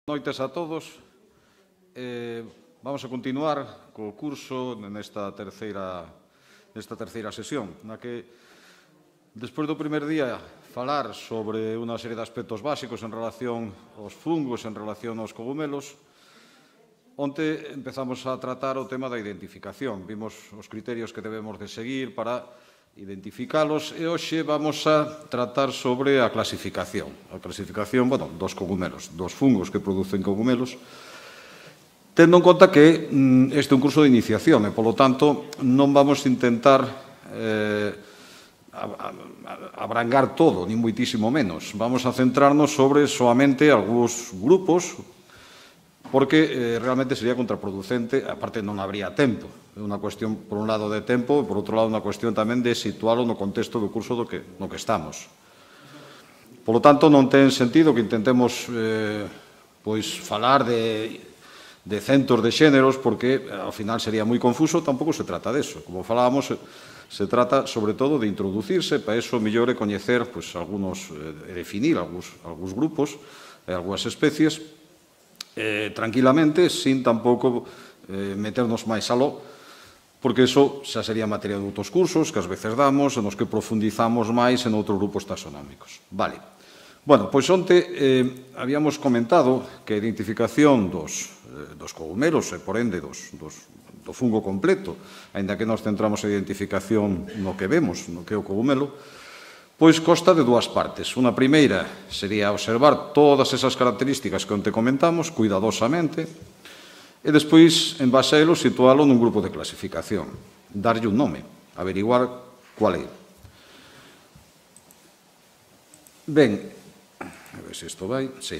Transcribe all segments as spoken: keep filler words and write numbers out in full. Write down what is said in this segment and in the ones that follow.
Noites a todos. Eh, vamos a continuar co curso nesta terceira, nesta terceira sesión, na que, despois do primer día, falar sobre unha serie de aspectos básicos en relación aos fungos, en relación aos cogumelos, onte empezamos a tratar o tema da identificación. Vimos os criterios que debemos de seguir para identificalos e hoxe vamos a tratar sobre a clasificación. A clasificación, bueno, dos cogumelos, dos fungos que producen cogumelos, tendo en conta que mm, este é un curso de iniciación e, polo tanto, non vamos a intentar eh, abrangar todo, ni moitísimo menos. Vamos a centrarnos sobre soamente algúns grupos, porque eh, realmente sería contraproducente, aparte non habría tempo. É unha cuestión, por un lado, de tempo e, por outro lado, unha cuestión tamén de situalo no contexto do curso do que, no que estamos. Por lo tanto, non ten sentido que intentemos eh, pois, falar de, de centos de xéneros, porque ao final sería moi confuso, tampouco se trata deso. Como falábamos, se trata, sobre todo, de introducirse, para eso mellor é coñecer pois, algunos, eh, definir algúns, algúns grupos e algúas especies, Eh, tranquilamente, sin tampouco eh, meternos máis aló, porque iso xa sería materia de outros cursos que ás veces damos, nos que profundizamos máis en outros grupos taxonómicos. Vale. Bueno, pois onte eh, habíamos comentado que a identificación dos, eh, dos cogumelos e, por ende, dos, dos, do fungo completo, aínda que nos centramos en identificación no que vemos, no que é o cogumelo, pois consta de dúas partes. Unha primeira sería observar todas esas características que onte comentamos, cuidadosamente, e despois, en base a elo, situalo nun grupo de clasificación, darlle un nome, averiguar cual é. Ben, a ver se isto vai, sí.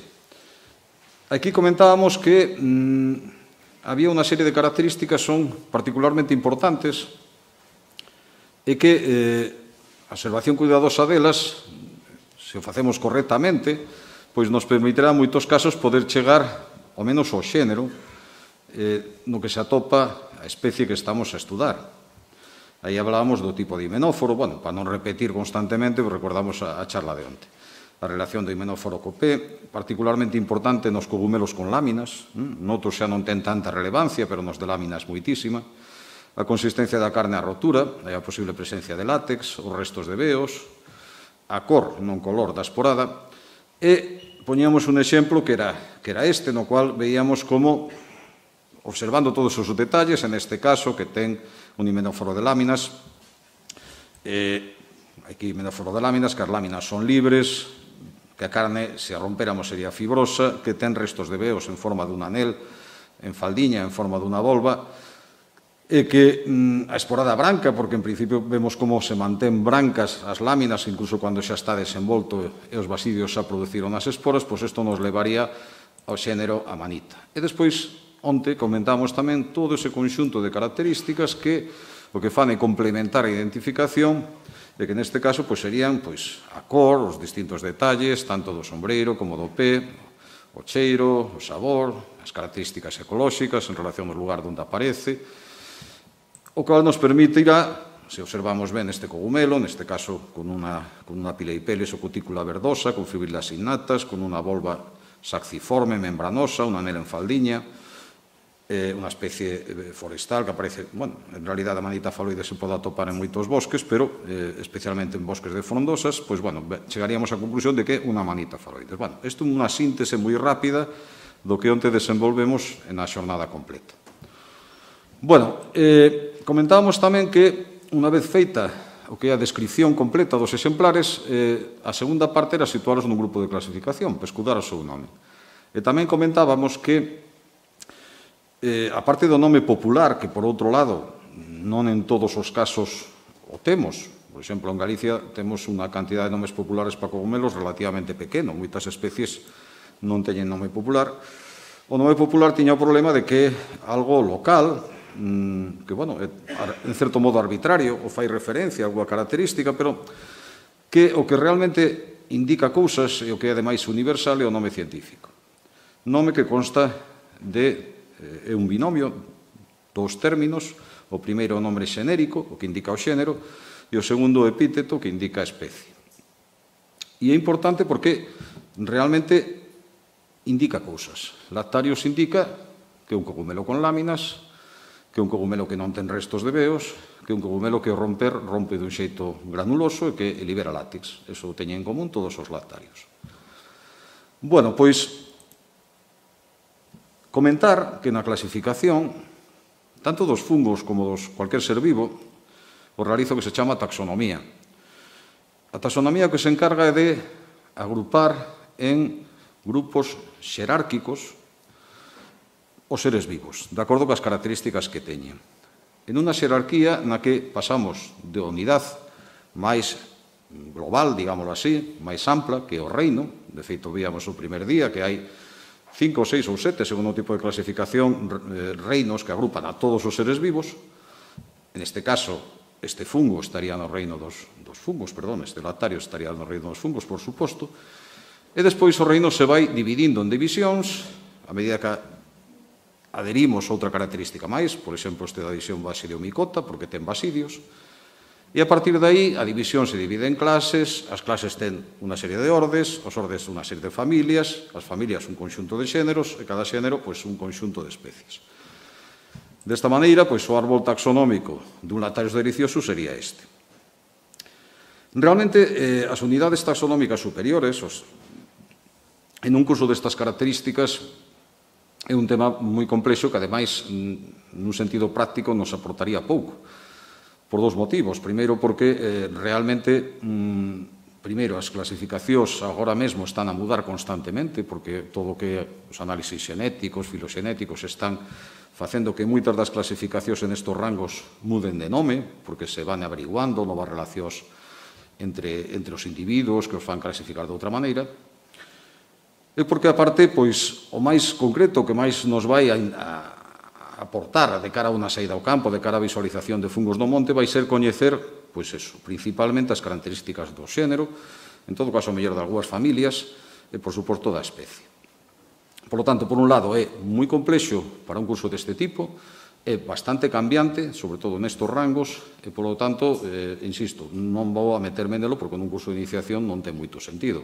Aquí comentábamos que mmm, había unha serie de características que son particularmente importantes e que eh, a observación cuidadosa delas, se o facemos correctamente, pois nos permitirá en moitos casos poder chegar ao menos ao xénero eh, no que se atopa a especie que estamos a estudar. Aí hablábamos do tipo de himenóforo, bueno, para non repetir constantemente, recordamos a, a charla de onte. A relación do himenóforo co pé, particularmente importante nos cogumelos con láminas, hm? Noutros xa non ten tanta relevancia, pero nos de láminas moitísima. A consistencia da carne a rotura, a posible presencia de látex, os restos de veos, a cor, non color, da esporada, e poñíamos un exemplo que era, que era este, no cual veíamos como, observando todos os detalles, en este caso, que ten un himenóforo de láminas, eh, aquí himenóforo de láminas, que as láminas son libres, que a carne, se a rompéramos, sería fibrosa, que ten restos de veos en forma dun anel, en faldiña, en forma dunha volva, e que mm, a esporada branca, porque en principio vemos como se mantén brancas as láminas, incluso cando xa está desenvolto e os basidios xa produciron as esporas, pois isto nos levaría ao xénero Amanita. E despois, onte, comentamos tamén todo ese conxunto de características que o que fan é complementar a identificación e que neste caso pois, serían pois, a cor, os distintos detalles, tanto do sombreiro como do pé, o cheiro, o sabor, as características ecolóxicas en relación ao lugar onde aparece, o cual nos permitirá, se observamos ben este cogumelo, neste caso con unha, con unha pileipeles ou cutícula verdosa, con fibrilas innatas, con unha volva saxiforme, membranosa, un anel en faldiña, eh, unha especie forestal que aparece, bueno, en realidad a manita faloide se pode atopar en moitos bosques, pero eh, especialmente en bosques de frondosas, pois, bueno, chegaríamos á conclusión de que é unha manita faloide. Bueno, isto é unha síntese moi rápida do que onte desenvolvemos na xornada completa. Bueno, eh, comentábamos tamén que, unha vez feita o que é a descripción completa dos exemplares, eh, a segunda parte era situaros nun grupo de clasificación, para escudar o seu nome. E tamén comentábamos que, eh, a parte do nome popular, que por outro lado, non en todos os casos o temos, por exemplo, en Galicia temos unha cantidad de nomes populares para cogumelos relativamente pequeno, moitas especies non teñen nome popular. O nome popular tiña o problema de que algo local, que, bueno, é en certo modo arbitrario, ou fai referencia a alguna característica, pero que o que realmente indica cousas e o que é ademais universal é o nome científico. Nome que consta de, é un binomio, dos términos, o primeiro o nome xenérico, o que indica o xénero, e o segundo o epíteto, que indica a especie. E é importante porque realmente indica cousas. Lactarios indica que é un cogumelo con láminas, que é un cogumelo que non ten restos de veos, que é un cogumelo que ao romper rompe dun xeito granuloso e que libera látex. Eso teñen en común todos os lactarios. Bueno, pois, comentar que na clasificación, tanto dos fungos como dos cualquier ser vivo, o realizo que se chama taxonomía. A taxonomía que se encarga é de agrupar en grupos xerárquicos os seres vivos, de acordo coas características que teñen. En unha xerarquía na que pasamos de unidade máis global, digámoslo así, máis ampla, que é o reino. De feito, víamos o primer día que hai cinco, seis ou sete, segundo o tipo de clasificación, reinos que agrupan a todos os seres vivos. En este caso, este fungo estaría no reino dos, dos fungos, perdón, este lactario estaría no reino dos fungos, por suposto. E despois o reino se vai dividindo en divisións, a medida que adherimos outra característica máis, por exemplo, este da división basidiomicota, porque ten basidios, e a partir de aí a división se divide en clases, as clases ten unha serie de ordes, os ordes unha serie de familias, as familias un conxunto de xéneros, e cada xénero pois, un conxunto de especies. Desta maneira, pois, o árbol taxonómico dun Lactarius deliciosus sería este. Realmente, eh, as unidades taxonómicas superiores, os, en un curso destas características, é un tema moi complexo que, ademais, nun sentido práctico, nos aportaría pouco. Por dos motivos. Primeiro, porque eh, realmente, mmm, primeiro, as clasificacións agora mesmo están a mudar constantemente, porque todo o que os análisis xenéticos, filoxenéticos, están facendo que moitas das clasificacións en estes rangos muden de nome, porque se van averiguando novas relacións entre, entre os individuos que os fan clasificar de outra maneira. E porque, aparte, pois, o máis concreto que máis nos vai a, a aportar de cara a unha saída ao campo, de cara a visualización de fungos no monte, vai ser coñecer, pois eso, principalmente as características do xénero, en todo caso, mellor de algunhas familias, e, por suposto, da especie. Por lo tanto, por un lado, é moi complexo para un curso deste tipo, é bastante cambiante, sobre todo nestes rangos, e, por lo tanto, eh, insisto, non vou a meterme nelo, porque nun curso de iniciación non ten moito sentido.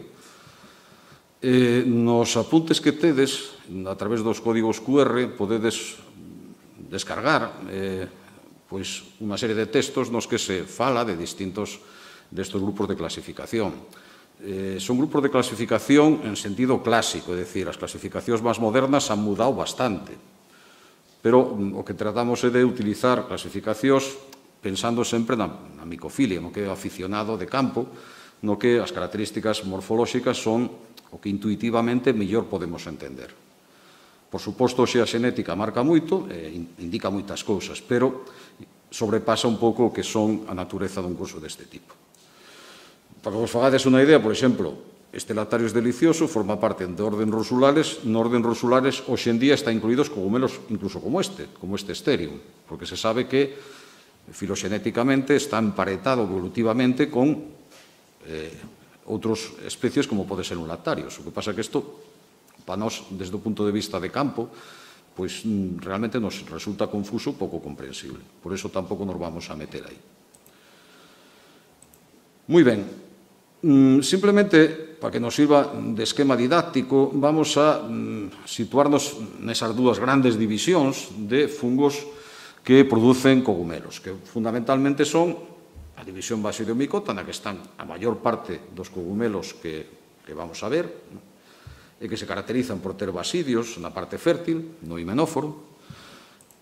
Eh, nos apuntes que tedes, a través dos códigos Q R, podedes descargar eh, pois unha serie de textos nos que se fala de distintos destes grupos de clasificación. Eh, son grupos de clasificación en sentido clásico, é dicir, as clasificacións máis modernas han mudado bastante, pero o que tratamos é de utilizar clasificacións pensando sempre na, na micofilia, no que é aficionado de campo, no que as características morfolóxicas son o que intuitivamente mellor podemos entender. Por suposto, xe a xenética marca moito, eh, indica moitas cousas, pero sobrepasa un pouco o que son a natureza dun curso deste tipo. Para que vos fagades unha idea, por exemplo, este Lactarius delicioso forma parte de orden Rosulares. No orden Rosulares, hoxe en día, está incluídos cogumelos incluso como este, como este Sterium, porque se sabe que filoxenéticamente está emparetado evolutivamente con eh, outras especies como pode ser un Lactarius. O que pasa é que isto, para nós, desde o punto de vista de campo, pois realmente nos resulta confuso, pouco comprensible. Por iso tampouco nos vamos a meter aí. Moi ben. Simplemente, para que nos sirva de esquema didáctico, vamos a situarnos nesas dúas grandes divisións de fungos que producen cogumelos, que fundamentalmente son a división basidiomicota, na que están a maior parte dos cogumelos que, que vamos a ver, e que se caracterizan por ter basidios na parte fértil, no himenóforo,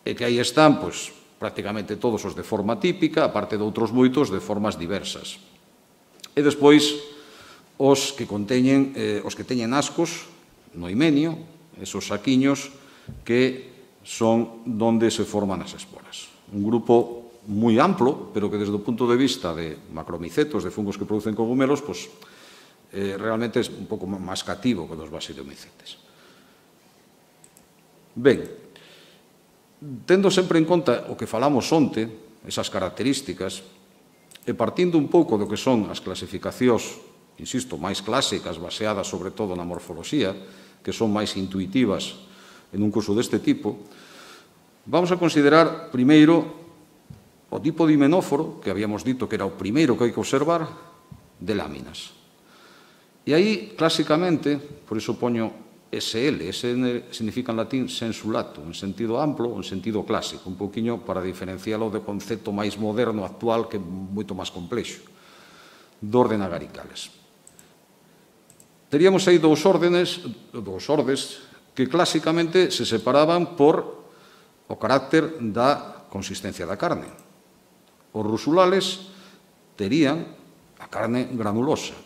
e que aí están, pois, prácticamente todos os de forma típica, aparte de outros moitos de formas diversas. E despois, os que conteñen, eh, os que teñen ascos no himenio, esos saquiños que son donde se forman as esporas. Un grupo moi amplo, pero que desde o punto de vista de macromicetos, de fungos que producen cogumelos, pois, Eh, realmente é un pouco máis cativo que dos basidiomycetes. Ben, tendo sempre en conta o que falamos onte, esas características, e partindo un pouco do que son as clasificacións, insisto, máis clásicas, baseadas sobre todo na morfoloxía, que son máis intuitivas en un curso deste tipo, vamos a considerar primeiro o tipo de himenóforo, que habíamos dito que era o primeiro que hai que observar, de láminas. E aí, clásicamente, por iso poño S L. S L significa en latín sensulato, en sentido amplo, en sentido clásico, un poquinho para diferencialo do concepto máis moderno actual que é moito máis complexo, do orden agaricales. Teríamos aí dous órdenes, dous ordes, que clásicamente se separaban por o carácter da consistencia da carne. Os rusulales terían a carne granulosa.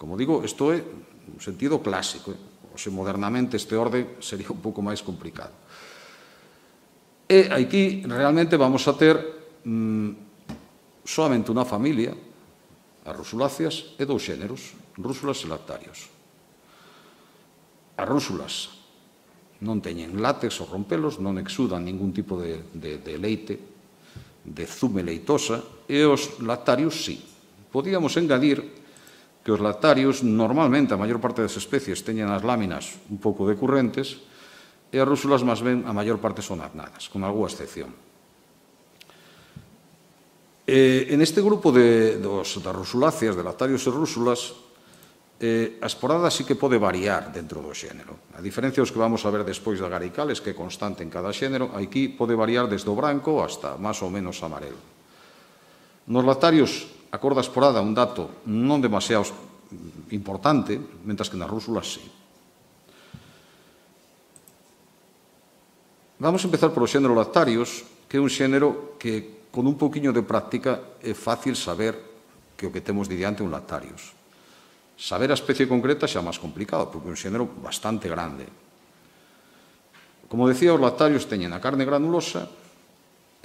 Como digo, isto é un sentido clásico. Oxe, modernamente este orde sería un pouco máis complicado. E aquí realmente vamos a ter mmm, solamente unha familia, as rusuláceas, e dous xéneros, rúsulas e lactarios. As rúsulas non teñen látex ou rompelos, non exudan ningún tipo de, de, de leite, de zume leitosa, e os lactarios sí. Podíamos engadir que os lactarios, normalmente, a maior parte das especies teñen as láminas un pouco decurrentes e as rúsulas, máis ben, a maior parte son apnadas, con algunha excepción. E, en este grupo de, dos, das rusuláceas, de lactarios e rúsulas, eh, a esporada sí que pode variar dentro do xénero. A diferencia dos que vamos a ver despois de agaricales, que é constante en cada xénero, aquí pode variar desde o branco hasta máis ou menos amarelo. Nos lactarios, a cor da esporada é un dato non demasiado importante, mentras que nas rúsulas sí. Vamos a empezar polo xénero lactarios, que é un xénero que, con un pouquiño de práctica, é fácil saber que o que temos de diante é un lactarios. Saber a especie concreta xa é máis complicado, porque é un xénero bastante grande. Como decía, os lactarios teñen a carne granulosa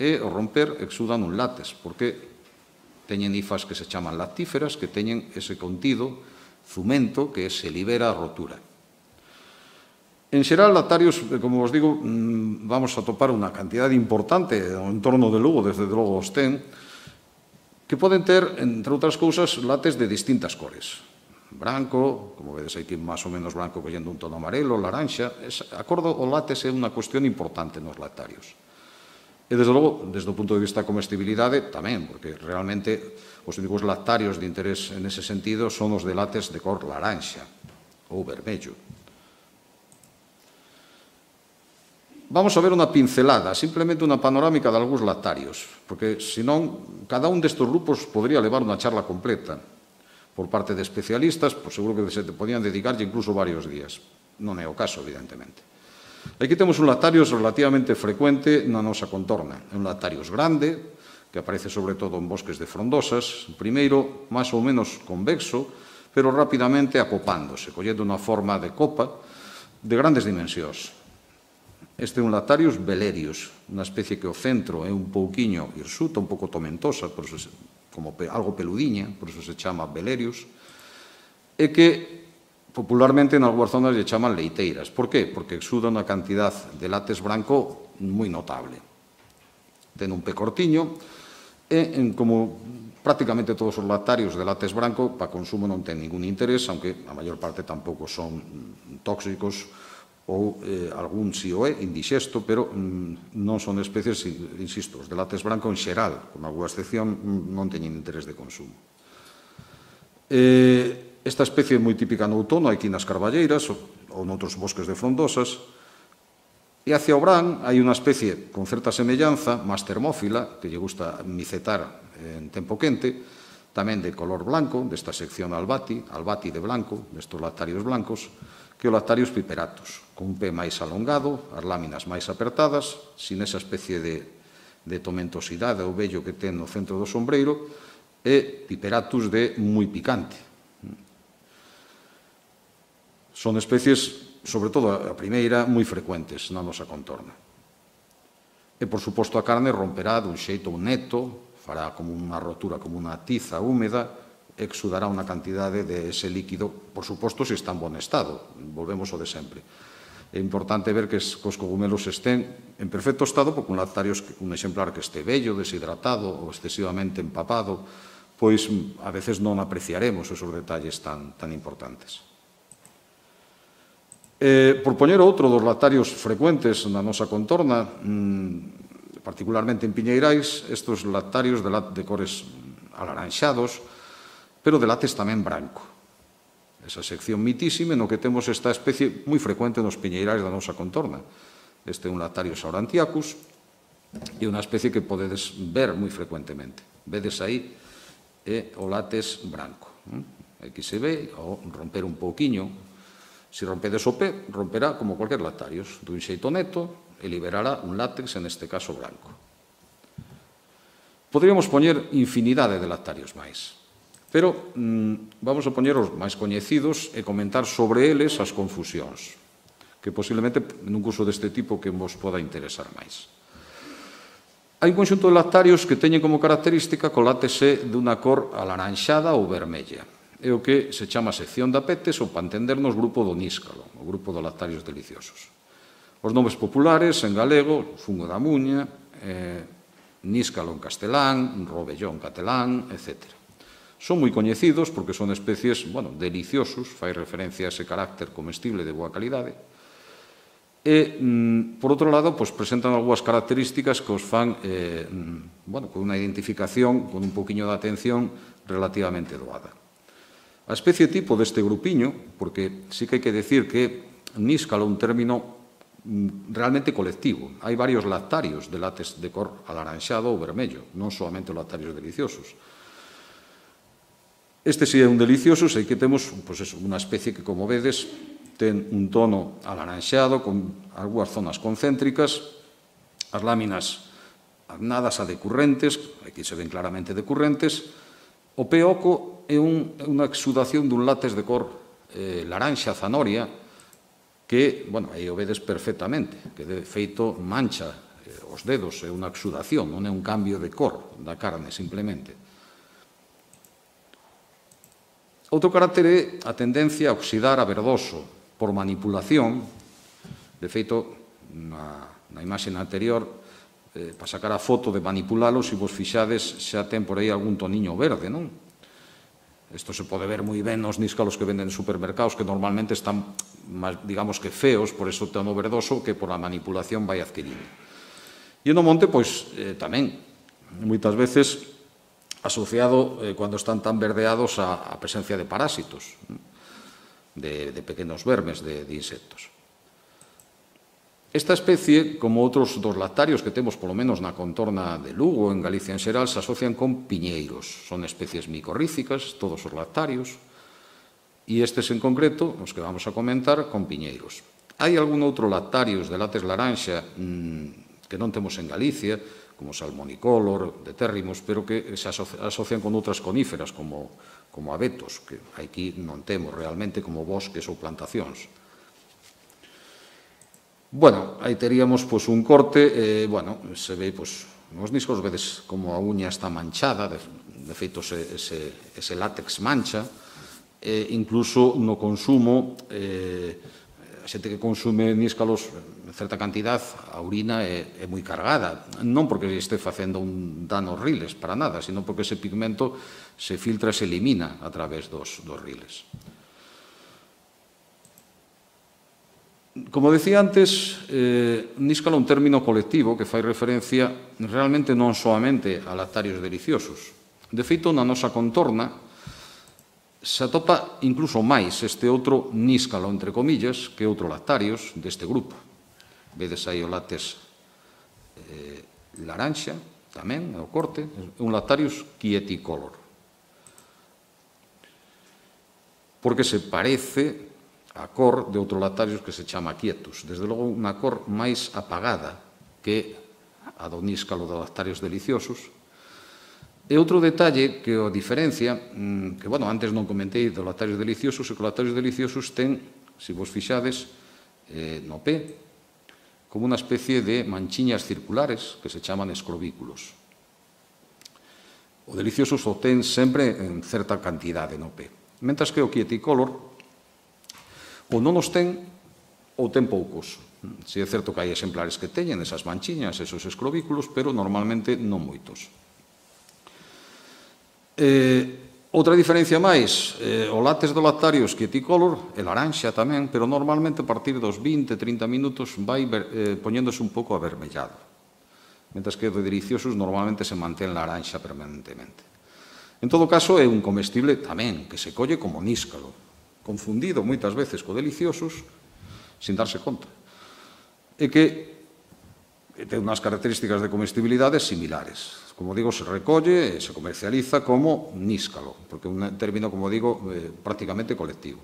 e, ao romper, exudan un látex, porque teñen hifas que se chaman lactíferas, que teñen ese contido zumento que se libera a rotura. En xeral, lactarios, como vos digo, vamos a topar unha cantidade importante no entorno de Lugo, desde logo os ten, que poden ter, entre outras cousas, látex de distintas cores. Branco, como vedes aquí, máis ou menos branco, collendo un tono amarelo, laranxa. A cor do látex é unha cuestión importante nos lactarios. E, desde logo, desde o punto de vista da comestibilidade, tamén, porque realmente os únicos lactarios de interés en ese sentido son os de látex de cor laranxa ou vermello. Vamos a ver unha pincelada, simplemente unha panorámica de algúns lactarios, porque, senón, cada un destes grupos podría levar unha charla completa. Por parte de especialistas, pois seguro que se podían dedicarlle incluso varios días. Non é o caso, evidentemente. Aquí temos un lactarios relativamente frecuente na nosa contorna. É un lactarios grande, que aparece sobre todo en bosques de frondosas, primeiro máis ou menos convexo, pero rapidamente acopándose, collendo unha forma de copa de grandes dimensións. Este é un lactarius velerius, unha especie que o centro é un pouquiño hirsuta, un pouco tomentosa, por eso, como algo peludiña, por eso se chama velerius, e que popularmente en algunhas zonas lle chaman leiteiras. Por qué? Porque exuda unha cantidad de látex branco moi notable. Ten un pé cortiño e, como prácticamente todos os lactarios de látex branco, para consumo non ten ningún interés, aunque a maior parte tampouco son tóxicos ou eh, algún si o é, indixesto, pero mm, non son especies, insisto, os de látex branco en xeral, con alguna excepción, non teñen interés de consumo. Eh, esta especie é moi típica no outono, aquí nas carballeiras ou noutros bosques de frondosas, e hacia o brán hai unha especie con certa semellanza, máis termófila, que lle gusta micetar en tempo quente, tamén de color blanco, desta sección albati, albati de blanco, destos lactarios blancos, que o lactarius piperatus, con un pé máis alongado, as láminas máis apertadas, sin esa especie de, de tomentosidade ou vello que ten no centro do sombreiro, e piperatus de moi picante. Son especies, sobre todo a primeira, moi frecuentes na nosa contorna. E, por suposto, a carne romperá dun xeito neto, fará como unha rotura, como unha tiza húmeda, exudará unha cantidade de ese líquido, por suposto, se está en bon estado. Volvemos ao de sempre. É importante ver que os cogumelos estén en perfecto estado, porque un lactarios, un exemplar que este vello, deshidratado ou excesivamente empapado, pois a veces non apreciaremos esos detalles tan, tan importantes. Eh, por poñer outro dos lactarios frecuentes na nosa contorna, mmm, particularmente en Piñeirais, estes lactarios de, de cores alaranxados, pero de látex tamén branco. esa sección mitísima no que temos esta especie moi frecuente nos piñeirais da nosa contorna. Este é un Lactarius aurantiacus e unha especie que podedes ver moi frecuentemente. Vedes aí é o látex branco. Aquí se ve, ao romper un pouquiño, se rompedes o pé, romperá como cualquier Lactarius, dun xeito neto, e liberará un látex, en este caso branco. Poderíamos poñer infinidade de Lactarius máis, pero mmm, vamos a poñer os máis coñecidos e comentar sobre eles as confusións, que posiblemente nun curso deste tipo que vos poda interesar máis. Hai un conxunto de Lactarius que teñen como característica que o látex dunha cor alaranxada ou vermella. É o que se chama sección de apetes ou, para entendernos, grupo do níscalo, o grupo dos Lactarius deliciosos. Os nomes populares, en galego, fungo da muña, eh, níscalo en castelán, robellón en catalán, etcétera. Son moi coñecidos porque son especies, bueno, deliciosos, fai referencia a ese carácter comestible de boa calidade. E, mm, por outro lado, pues, presentan algunhas características que os fan, eh, bueno, con unha identificación, con un poquinho de atención relativamente doada. A especie tipo deste grupiño, porque sí que hai que decir que níscalo é un término realmente colectivo. Hai varios Lactarius de látex de cor alaranxado ou vermello, non solamente os Lactarius deliciosos. Este sí é un delicioso, sei que temos pues eso, unha especie que, como vedes, ten un tono alaranxado con algunhas zonas concéntricas, as láminas agnadas a decurrentes, aquí se ven claramente decurrentes. O peoco é un, unha exudación dun látex de cor eh, laranxa zanoria que, bueno, aí o vedes perfectamente, que de feito mancha eh, os dedos, é unha exudación, non é un cambio de cor da carne, simplemente. Outro carácter é a tendencia a oxidar a verdoso por manipulación. De feito, na, na imaxe anterior, eh, para sacar a foto de manipulalo, se vos fixades, xa ten por aí algún toniño verde, non? Isto se pode ver moi ben nos níscalos que venden en supermercados, que normalmente están, digamos que feos, por eso tono verdoso, que por a manipulación vai adquirindo. E no monte, pois, eh, tamén, moitas veces asociado, eh, cando están tan verdeados, a, a presencia de parásitos, de, de pequenos vermes, de, de insectos. Esta especie, como outros dos Lactarios que temos polo menos na contorna de Lugo, en Galicia en xeral, se asocian con piñeiros. Son especies micorríficas, todos os Lactarios, e estes en concreto, os que vamos a comentar, con piñeiros. Hai algún outro Lactarius de látex laranxa mmm, que non temos en Galicia, como salmonicolor, de térrimos, pero que se asocian con outras coníferas, como, como abetos, que aquí non temos realmente como bosques ou plantacións. Bueno, aí teríamos pues, un corte, eh, bueno, se ve, pues, nos discos vedes como a uña está manchada, de, de feito ese, ese, ese látex mancha, e incluso no consumo, eh, a xente que consume níscalos en certa cantidad, a urina é, é moi cargada, non porque este facendo un dano aos riles, para nada, sino porque ese pigmento se filtra e se elimina a través dos, dos riles. Como decía antes, eh, níscalo é un término colectivo que fai referencia realmente non soamente a Lactarios deliciosos. De feito, na nosa contorna se atopa incluso máis este outro níscalo, entre comillas, que outro Lactarios deste grupo. Vedes aí o látex eh, laranxa, tamén, o corte, é un Lactarius quieticolor. Porque se parece a cor de outro Lactarius que se chama quietus. Desde logo, unha cor máis apagada que a do níscalo dos Lactarios deliciosos. E outro detalle que o diferencia, que, bueno, antes non comentei dos Lactarios deliciosos, é que os Lactarios deliciosos ten, se vos fixades, eh, no pé, como unha especie de manchiñas circulares que se chaman escrovículos. O delicioso o ten sempre en certa cantidade no pé. Mentras que o quieticolor ou non os ten ou ten poucos. Si é certo que hai exemplares que teñen esas manchiñas, esos escrovículos, pero normalmente non moitos. Eh, outra diferencia máis, eh, o látex do Lactarius quieticolor é laranxa tamén, pero normalmente a partir dos vinte a trinta minutos vai eh, poñéndose un pouco avermellado. Mentras que do deliciosos normalmente se mantén laranxa permanentemente. En todo caso, é un comestible tamén, que se colle como níscalo, confundido moitas veces co deliciosos sin darse conta. E que ten unhas características de comestibilidade similares. Como digo, se recolle e se comercializa como níscalo, porque é un término, como digo, eh, prácticamente colectivo.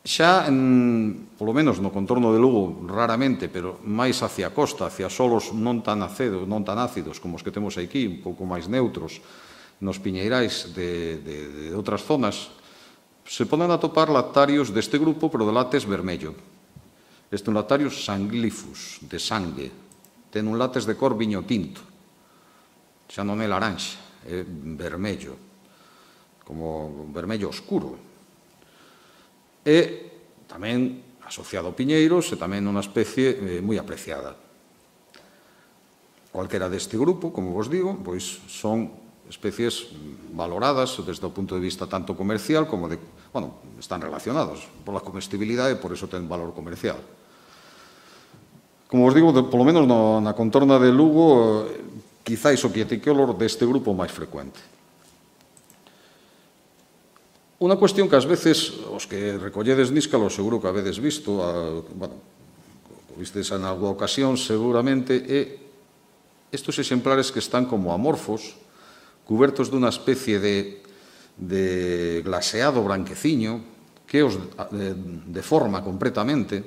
Xa, en, polo menos no contorno de Lugo, raramente, pero máis hacia a costa, hacia solos non tan ácidos, non tan ácidos como os que temos aquí, un pouco máis neutros, nos piñeirais de, de, de outras zonas, se poden atopar lactarios deste grupo, pero de látex vermello. Este é un lactarius sanglifus, de sangue. Ten un látex de cor viño tinto. Xa non é laranxa, é vermello, como vermello oscuro. E tamén asociado a piñeiros e tamén unha especie eh, moi apreciada. Cualquera deste grupo, como vos digo, pois son especies valoradas desde o punto de vista tanto comercial como de, bueno, están relacionados pola comestibilidade e por iso ten valor comercial. Como vos digo, de, polo menos no, na contorna de Lugo, eh, quizáis o quieticolor deste grupo máis frecuente. Unha cuestión que ás veces, os que recolledes níscalo, seguro que habedes visto, a, bueno, vistes en alguna ocasión, seguramente, é estes exemplares que están como amorfos, cubertos dunha especie de, de glaseado branqueciño, que os de, deforma completamente.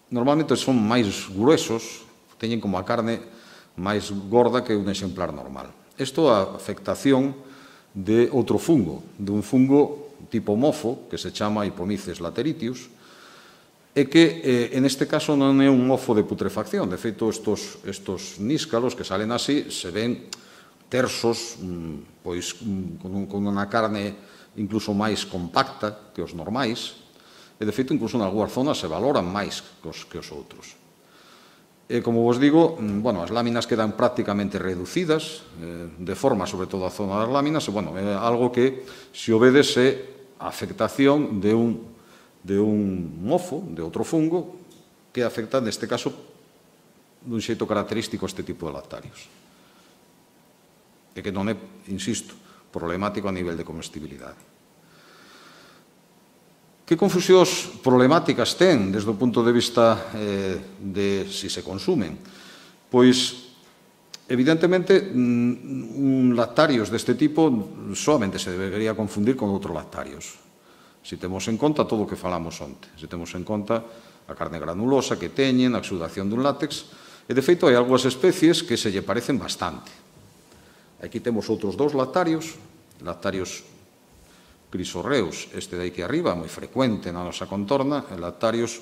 Normalmente son máis gruesos, teñen como a carne máis gorda que un exemplar normal. Isto é a afectación de outro fungo, de un fungo tipo mofo, que se chama Hypomyces lateritius, e que, eh, en este caso, non é un mofo de putrefacción. De feito, estos, estos níscalos que salen así se ven tersos, pois, con, un, con unha carne incluso máis compacta que os normais, e, de feito, incluso en algunhas zonas se valoran máis que os, que os outros. E, como vos digo, bueno, as láminas quedan prácticamente reducidas, eh, de forma, sobre todo, a zona das láminas, e, bueno, é algo que, se o vedes, é a afectación de un, de un mofo, de outro fungo, que afecta, neste caso, dun xeito característico este tipo de lactarios. E que non é, insisto, problemático a nivel de comestibilidade. Que confusións problemáticas ten desde o punto de vista eh, de si se consumen? Pois, evidentemente, un lactarios deste tipo solamente se debería confundir con outros lactarios. Se temos en conta todo o que falamos onte, se temos en conta a carne granulosa que teñen, a exudación dun látex, e de feito hai algunhas especies que se lle parecen bastante. Aquí temos outros dous lactarios, lactarios crisorreus, este de aquí arriba, moi frecuente na nosa contorna, e lactarios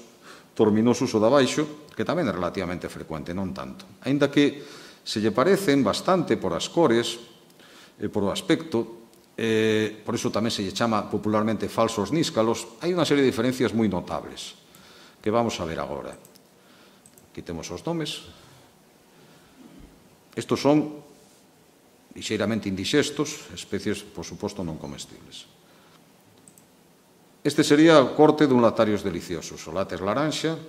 torminosus o de abaixo, que tamén é relativamente frecuente, non tanto. Aínda que se lle parecen bastante por as cores e por o aspecto, eh, por iso tamén se lle chama popularmente falsos níscalos, hai unha serie de diferencias moi notables, que vamos a ver agora. Aquí temos os nomes. Estos son lixeiramente indixestos, especies, por suposto, non comestibles. Este sería o corte dun lactarios deliciosos, o látex laranxa,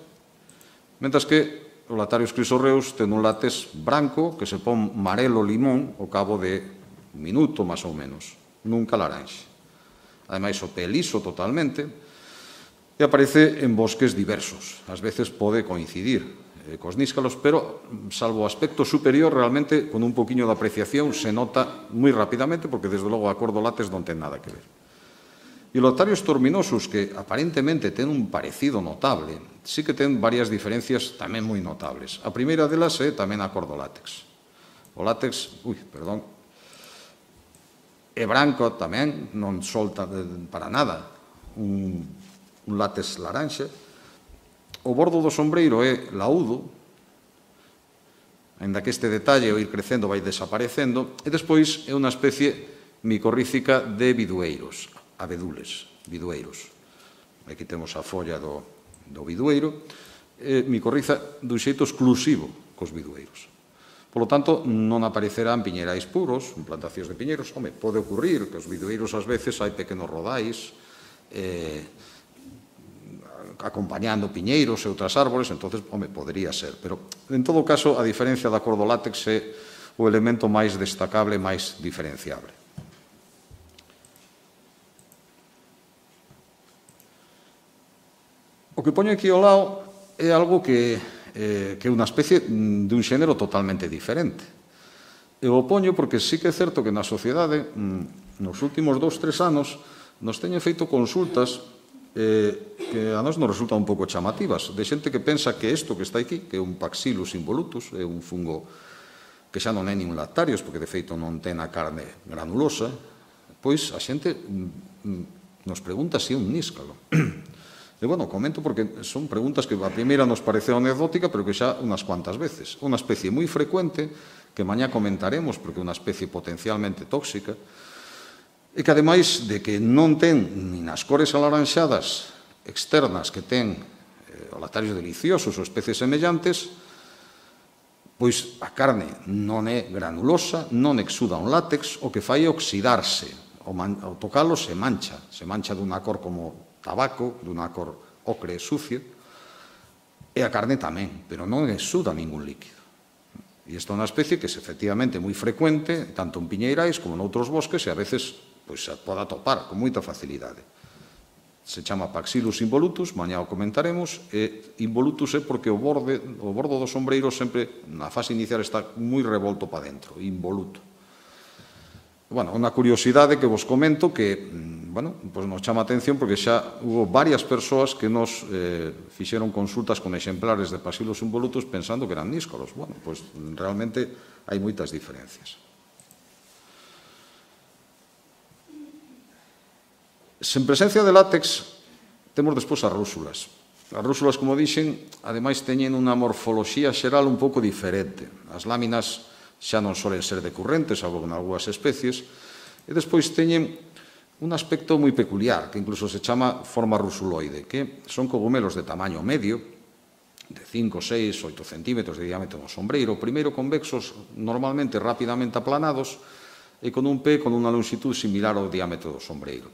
mentras que o lactarios crisorreus ten un látex branco que se pon marelo limón ao cabo de un minuto, máis ou menos, nunca laranxa. Ademais, o pé liso totalmente e aparece en bosques diversos. Ás veces pode coincidir eh, cos níscalos, pero, salvo o aspecto superior, realmente, con un poquinho de apreciación, se nota moi rapidamente, porque, desde logo, a cor do látex non ten nada que ver. E os lactarios torminosus, que aparentemente ten un parecido notable, sí que ten varias diferencias tamén moi notables. A primeira delas é tamén a cor do látex. O látex, ui, perdón, é branco tamén, non solta para nada un, un látex laranxa. O bordo do sombreiro é laúdo, aínda que este detalle, ao ir crecendo, vai desaparecendo, e despois é unha especie micorrícica de bidueiros, abedules, bidueiros. Aquí temos a folla do, do bidueiro, eh, micorriza dun xeito exclusivo cos bidueiros. Por lo tanto, non aparecerán piñerais puros, en plantacións de piñeiros. Home, pode ocurrir que os bidueiros ás veces hai pequenos rodais, eh, acompañando piñeiros e outras árbores, entonces, home, podría ser. Pero, en todo caso, a diferencia da cor do látex é o elemento máis destacable, máis diferenciable. O que poño aquí ao lado é algo que, eh, que é unha especie de un xénero totalmente diferente. Eu o poño porque sí que é certo que na sociedade, nos últimos dous, tres anos, nos teñen feito consultas eh, que a nós nos resultan un pouco chamativas, de xente que pensa que isto que está aquí, que é un Paxillus involutus, é un fungo que xa non é nin lactarios, porque de feito non ten a carne granulosa, pois a xente nos pregunta se é un níscalo. E, bueno, comento porque son preguntas que a primeira nos pareceu anecdótica, pero que xa unhas cuantas veces. Unha especie moi frecuente, que mañá comentaremos, porque é unha especie potencialmente tóxica, e que, ademais de que non ten nin as cores alaranxadas externas que ten eh, os lactarios deliciosos ou especies semellantes, pois a carne non é granulosa, non exuda un látex, o que fai é oxidarse. Ao, man, ao tocalo se mancha, se mancha dunha cor como tabaco, dunha cor ocre e sucia, e a carne tamén, pero non exuda ningún líquido. E esta é unha especie que é efectivamente moi frecuente, tanto en piñeirais como noutros bosques, e a veces pois se pode atopar con moita facilidade. Se chama Paxillus involutus, mañá o comentaremos, e involutus é porque o borde, o bordo do sombreiro sempre, na fase inicial, está moi revolto para dentro, involuto. Bueno, unha curiosidade que vos comento que, bueno, pois nos chama a atención porque xa hubo varias persoas que nos eh, fixeron consultas con exemplares de Paxillus involutus pensando que eran níscalos. Bueno, pois realmente hai moitas diferencias. Sen presencia de látex, temos despois as rúsulas. As rúsulas, como dixen, ademais teñen unha morfoloxía xeral un pouco diferente. As láminas xa non solen ser decurrentes, salvo en algunhas especies, e despois teñen un aspecto moi peculiar, que incluso se chama forma rusuloide, que son cogumelos de tamaño medio, de cinco, seis, oito centímetros de diámetro no sombreiro, primeiro convexos, normalmente rapidamente aplanados, e con un pé con unha longitud similar ao diámetro do sombreiro.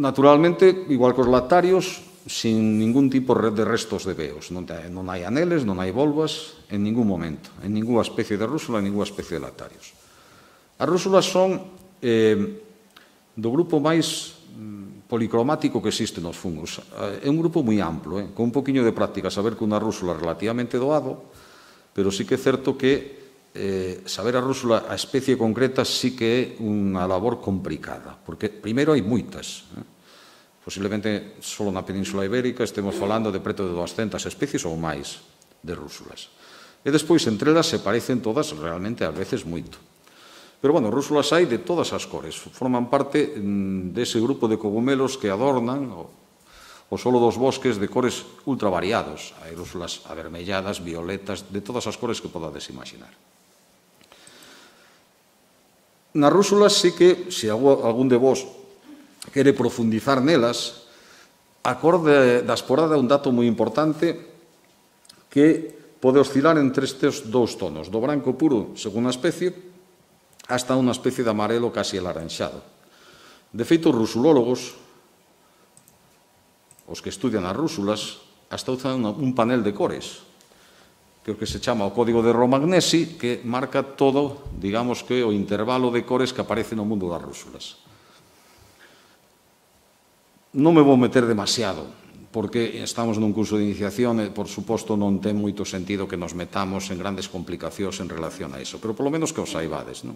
Naturalmente, igual que os lactarios, sin ningún tipo de restos de veos. Non hai aneles, non hai volvas, en ningún momento, en ninguna especie de rúsula, en ninguna especie de lactarios. As rúsulas son eh, do grupo máis policromático que existe nos fungos. É un grupo moi amplo, eh, con un poquinho de práctica, saber que unha rúsula é relativamente doado, pero sí que é certo que eh, saber a rúsula, a especie concreta, sí que é unha labor complicada, porque primeiro hai moitas. Eh? Posiblemente só na Península Ibérica estemos falando de preto de doscientas especies ou máis de rúsulas. E despois, entre elas, se parecen todas realmente, ás veces, moito. Pero, bueno, rúsulas hai de todas as cores. Forman parte dese grupo de cogumelos que adornan o, o solo dos bosques de cores ultra variados. Hai rúsulas avermelladas, violetas, de todas as cores que podades imaginar. Nas rúsulas sí que, se algún de vos quere profundizar nelas, a cor da esporada é un dato moi importante que pode oscilar entre estes dous tonos, do branco puro, según a especie, hasta unha especie de amarelo casi alaranxado. De feito, os rusulólogos, os que estudian as rúsulas, hasta usan un panel de cores, que é o que se chama o código de Romagnesi, que marca todo, digamos que, o intervalo de cores que aparece no mundo das rúsulas. Non me vou meter demasiado, porque estamos nun curso de iniciación e, por suposto, non ten moito sentido que nos metamos en grandes complicacións en relación a iso, pero polo menos que os saibades, non?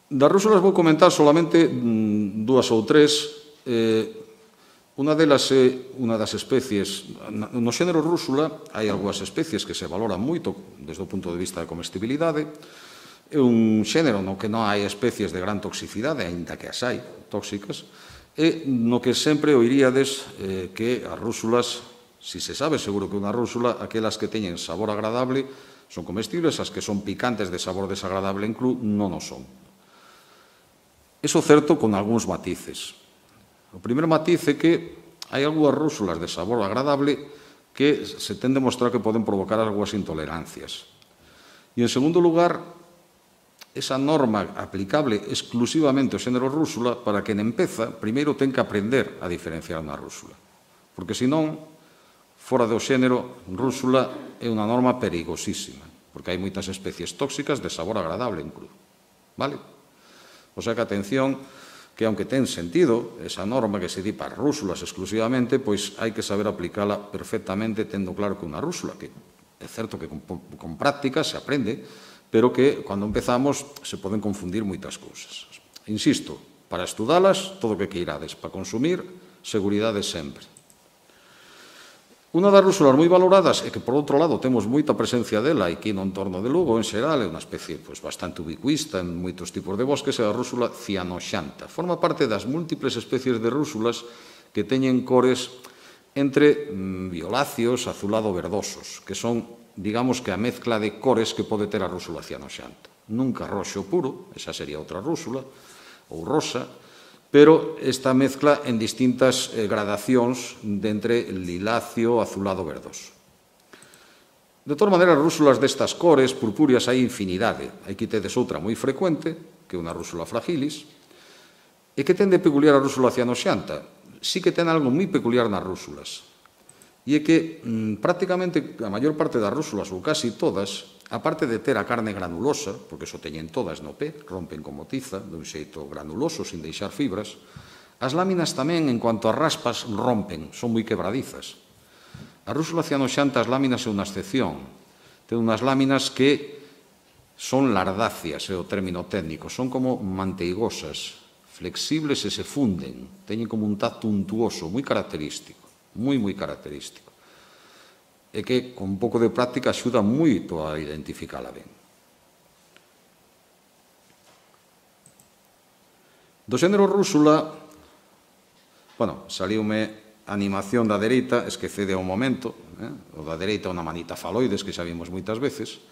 Das rúsulas vou comentar solamente dúas ou tres. Unha delas é unha das especies, no xénero rúsula hai algunhas especies que se valoran moito desde o punto de vista de comestibilidade. É un xénero no que non hai especies de gran toxicidade, aínda que as hai tóxicas, e no que sempre oiríades que as rúsulas, si se sabe seguro que unha rúsula, aquelas que teñen sabor agradable son comestibles, as que son picantes de sabor desagradable en cru non o son. Iso certo con algúns matices. O primeiro matiz é que hai algunhas rúsulas de sabor agradable que se ten demostrado que poden provocar algunhas intolerancias. E, en segundo lugar, esa norma aplicable exclusivamente ao xénero rúsula, para quen empeza, primeiro ten que aprender a diferenciar unha rúsula. Porque, senón, fora do xénero, rúsula é unha norma perigosísima, porque hai moitas especies tóxicas de sabor agradable en cru. Vale? O sea que, atención, que aunque ten sentido esa norma que se di para rúsulas exclusivamente, pois hai que saber aplicala perfectamente tendo claro que unha rúsula, que é certo que con, con práctica se aprende, pero que, cando empezamos, se poden confundir moitas cousas. Insisto, para estudalas, todo o que queirades. Para consumir, seguridade sempre. Unha das rúsulas moi valoradas e que, por outro lado, temos moita presencia dela aquí no entorno de Lugo, en xeral, é unha especie pois, bastante ubicuista en moitos tipos de bosques, é a rúsula cianoxanta. Forma parte das múltiples especies de rúsulas que teñen cores entre mm, violáceos, azulado-verdosos, que son, digamos que a mezcla de cores que pode ter a rúsula cianoxanta. Nunca roxo puro, esa sería outra rúsula, ou rosa, pero esta mezcla en distintas eh, gradacións de entre liláceo, azulado, verdoso. De todas maneiras, rúsulas destas cores, purpúreas, hai infinidade. Aquí tedes outra moi frecuente, que é unha rúsula fragilis, e que ten de peculiar a rúsula cianoxanta. Sí que ten algo moi peculiar nas rúsulas. E é que mmm, prácticamente a maior parte das rúsulas, ou casi todas, aparte de ter a carne granulosa, porque iso teñen todas no pé, rompen como tiza, dun xeito granuloso, sin deixar fibras, as láminas tamén, en cuanto a raspas, rompen, son moi quebradizas. A rúsula cianoxanta, as láminas é unha excepción. Ten unhas láminas que son lardáceas, é o término técnico, son como manteigosas, flexibles e se funden, teñen como un tacto untuoso, moi característico, moi, moi característico. E que, con un pouco de práctica, axuda moito a identificala ben. Do xénero rúsula, bueno, saliume a animación da dereita, esquecede un momento, eh? O da dereita unha manita faloides, que xa vimos moitas veces.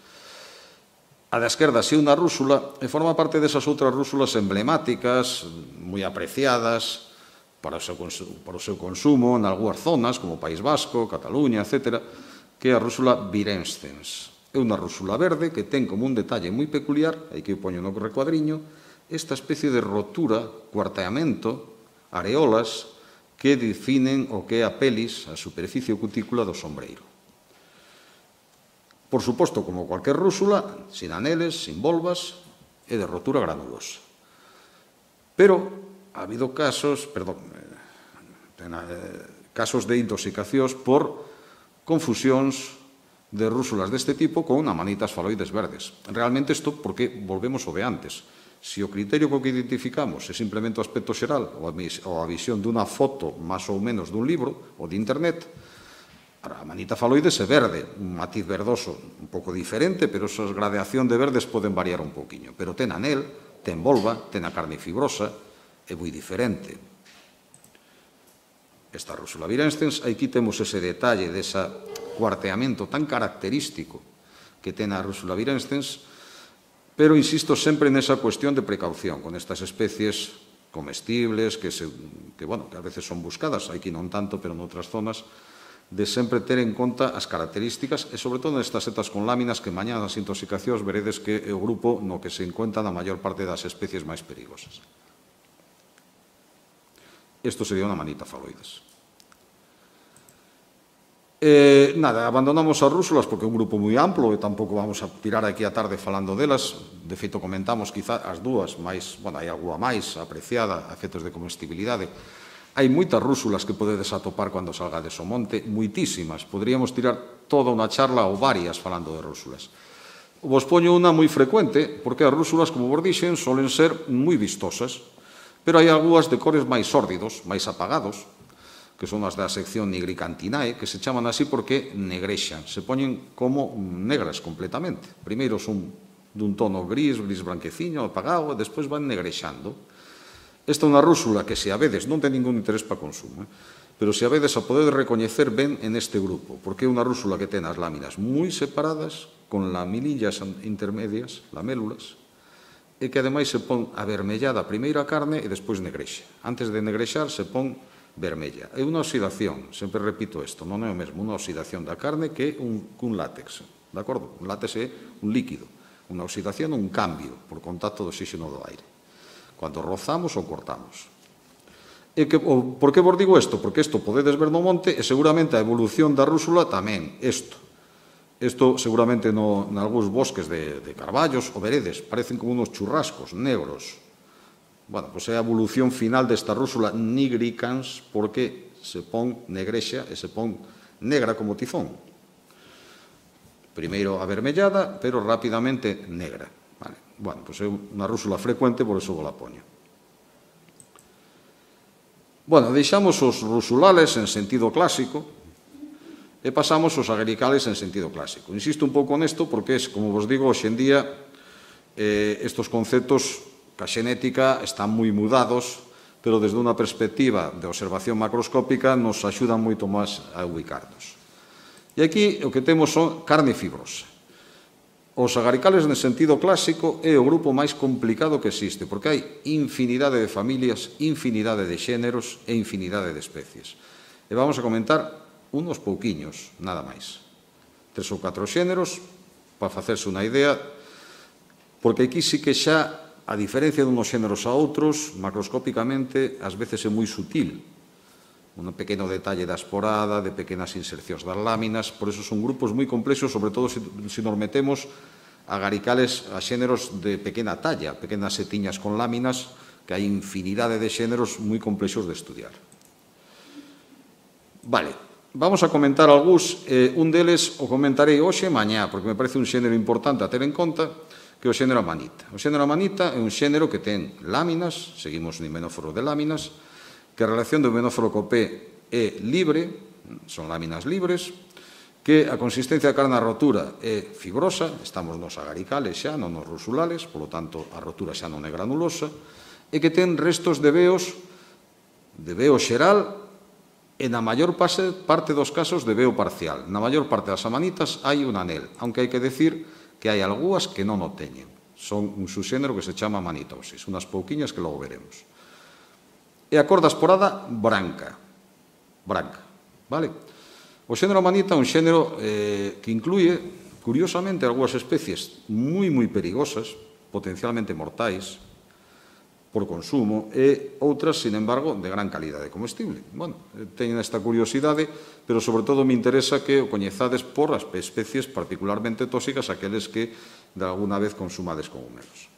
A da esquerda, si unha rúsula, e forma parte desas outras rúsulas emblemáticas, moi apreciadas, para o seu, para o seu consumo en algunhas zonas, como País Vasco, Cataluña, etcétera, que é a rúsula virescens. É unha rúsula verde que ten como un detalle moi peculiar, aí que eu poño no recuadriño, esta especie de rotura, cuarteamento, areolas, que definen o que é a pelis, a superficie cutícula do sombreiro. Por suposto, como cualquier rúsula, sin aneles, sin volvas, e de rotura granulosa. Pero ha habido casos, perdón, casos de intoxicacións por confusións de rúsulas deste tipo con amanitas faloides verdes. Realmente isto porque volvemos ao de antes. Se o criterio co que identificamos é simplemente o aspecto xeral ou a visión dunha foto máis ou menos dun libro ou de internet, a amanita faloides é verde, un matiz verdoso un pouco diferente, pero esa gradación de verdes poden variar un pouquiño. Pero ten anel, ten volva, ten a carne fibrosa, é moi diferente. Esta rúsula virescens, aquí temos ese detalle dese cuarteamento tan característico que ten a rúsula virescens, pero insisto sempre nesa cuestión de precaución con estas especies comestibles que, se, que, bueno, que a veces son buscadas, aquí non tanto, pero en outras zonas, de sempre ter en conta as características e, sobre todo, nestas setas con láminas que mañá nas intoxicacións veredes que é o grupo no que se encuentra na maior parte das especies máis perigosas. Isto sería unha manita faloides. Eh, nada, abandonamos as rúsulas porque é un grupo moi amplo e tampouco vamos a tirar aquí a tarde falando delas. De feito, comentamos quizá as dúas, máis, bueno, hai alguna máis apreciada a efectos de comestibilidade. Hai moitas rúsulas que podedes atopar cando salgades ao monte, moitísimas. Podríamos tirar toda unha charla ou varias falando de rúsulas. Vos poño unha moi frecuente, porque as rúsulas, como vos dixen, solen ser moi vistosas, pero hai algunhas de cores máis sórdidos, máis apagados, que son as da sección nigricantinae, que se chaman así porque negrexan, se poñen como negras completamente. Primeiro son dun tono gris, gris branqueciño, apagado, e despois van negrexando. Esta é unha rúsula que, se a vedes, non ten ningún interés para consumo, eh? pero se a vedes a podedes recoñecer ben en este grupo, porque é unha rúsula que ten as láminas moi separadas, con lamilillas intermedias, lamélulas, e que ademais se pon avermellada primeiro a carne e despois negrexa. Antes de negrexar se pon vermella. É unha oxidación, sempre repito isto, non é o mesmo unha oxidación da carne que un, un látex, de acordo? Un látex é un líquido, unha oxidación é un cambio por contacto do oxígeno do aire, cando rozamos ou cortamos. E que, o, por que vos digo isto? Porque isto podedes ver no monte e seguramente a evolución da rúsula tamén, isto. Isto seguramente no, en algúns bosques de, de carballos ou veredes, parecen como unos churrascos negros, Bueno, pois é a evolución final desta rúsula nigricans porque se pon negrexa e se pon negra como tizón. Primeiro avermellada, pero rapidamente negra. Vale. Bueno, pois é unha rúsula frecuente, por iso vos la poño. Bueno, deixamos os rusulales en sentido clásico e pasamos os agaricales en sentido clásico. Insisto un pouco nesto porque, como vos digo, hoxe en día eh, estos conceptos ca xenética están moi mudados, pero desde unha perspectiva de observación macroscópica nos axudan moito máis a ubicarnos. E aquí o que temos son carne fibrosa. Os agaricales en sentido clásico é o grupo máis complicado que existe, porque hai infinidade de familias, infinidade de xéneros e infinidade de especies. E vamos a comentar unos pouquiños, nada máis. Tres ou catro xéneros, para facerse unha idea, porque aquí sí que xa, a diferencia de unos xéneros a outros, macroscópicamente, ás veces é moi sutil. Un pequeno detalle da esporada, de pequenas insercións das láminas, por eso son grupos moi complexos, sobre todo se, se nos metemos a agaricales a xéneros de pequena talla, pequenas setiñas con láminas, que hai infinidade de xéneros moi complexos de estudiar. Vale, vamos a comentar algúns, eh, un deles o comentarei hoxe e mañá, porque me parece un xénero importante a ter en conta, que é o xénero amanita. O xénero amanita é un xénero que ten láminas, seguimos no himenóforo de láminas, que a relación do himenóforo co P é libre, son láminas libres, que a consistencia da carne a rotura é fibrosa, estamos nos agaricales xa, non nos rusulales, polo tanto a rotura xa non é granulosa, e que ten restos de veos, de veo xeral, e na maior parte dos casos de veo parcial. Na maior parte das amanitas hai un anel, aunque hai que decir que hai algúas que non o teñen. Son un subxénero que se chama manitosis, unhas pouquiñas que logo veremos. E a cor da esporada branca. Branca, vale? O xénero amanita é un xénero eh, que incluye, curiosamente, algúas especies moi, moi perigosas, potencialmente mortais, por consumo, e outras, sin embargo, de gran calidade comestible. Bueno, teñen esta curiosidade, pero sobre todo me interesa que o coñezades por as especies particularmente tóxicas, aqueles que de alguna vez consumades cogumelos.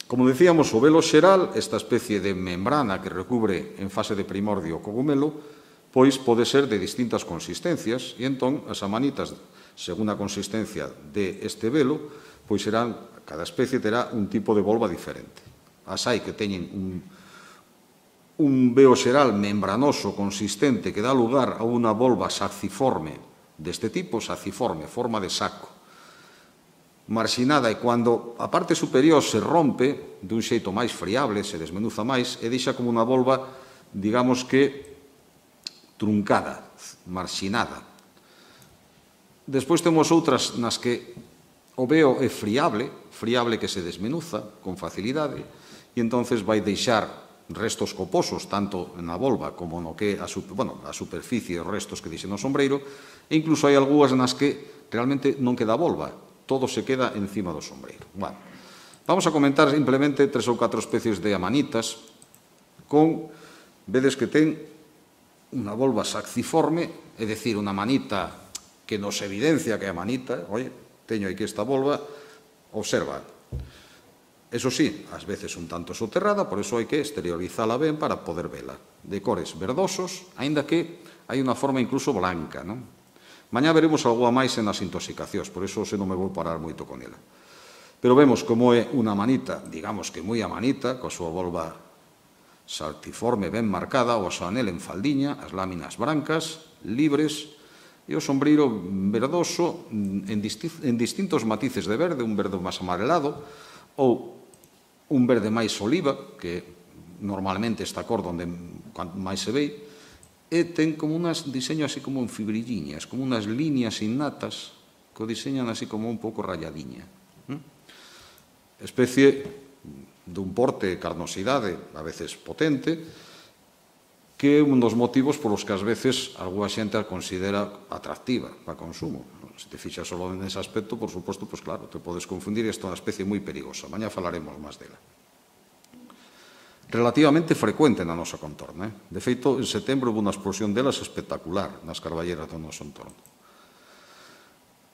Como decíamos, o velo xeral, esta especie de membrana que recubre en fase de primordio o cogumelo, pois pode ser de distintas consistencias, e entón as amanitas, según a consistencia de este velo, pois serán, cada especie terá un tipo de volva diferente. As hai que teñen un, un veo xeral membranoso, consistente, que dá lugar a unha volva saciforme deste tipo, saciforme, forma de saco, marxinada, e cando a parte superior se rompe dun xeito máis friable, se desmenuza máis, e deixa como unha volva, digamos que, truncada, marxinada. Despois temos outras nas que o veo é friable, friable que se desmenuza con facilidade, e entonces vai deixar restos coposos, tanto na volva como no que a, bueno, a superficie, os restos que dixen no sombreiro, e incluso hai algúas nas que realmente non queda volva, todo se queda encima do sombreiro. Bueno, vamos a comentar simplemente tres ou catro especies de amanitas con, vedes que ten unha volva saxiforme, é dicir, unha manita que nos evidencia que é a manita, oye, teño aquí esta volva, observa. Eso sí, ás veces un tanto soterrada, por eso hai que exteriorizala ben para poder vela. De cores verdosos, aínda que hai unha forma incluso blanca, non? Mañá veremos algo a máis en as intoxicacións, por eso se non me vou parar moito con ela. Pero vemos como é unha manita, digamos que moi amanita, coa súa volva saltiforme ben marcada, o seu anel en faldiña, as láminas brancas, libres, e o sombreiro verdoso en, disti en distintos matices de verde, un verde máis amarelado, ou un verde máis oliva, que normalmente esta cor onde máis se ve, e ten como unas diseño así como en fibrilliñas, como unas líneas innatas que o diseñan así como un pouco rayadiña. Especie dun porte, carnosidade, a veces potente, que é un dos motivos polos que ás veces algunha xente a considera atractiva para consumo. Se te fixas só nese aspecto, por suposto, pois claro, te podes confundir, e isto é unha especie moi perigosa. Mañá falaremos máis dela. Relativamente frecuente na nosa contorna. Eh? De feito, en setembro houve unha explosión delas espectacular nas carballeras do noso entorno.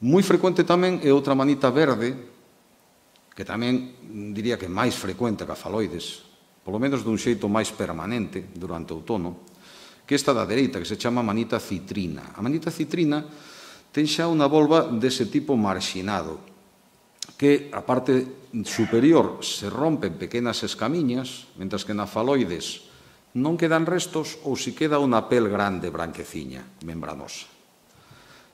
Moi frecuente tamén é outra manita verde, que tamén diría que máis frecuente que a faloides, polo menos dun xeito máis permanente durante o outono, que esta da dereita, que se chama manita citrina. A manita citrina ten xa unha volva dese tipo marxinado, que a parte superior se rompe en pequenas escamiñas, mentras que na faloides non quedan restos ou si queda unha pel grande, branqueciña, membranosa.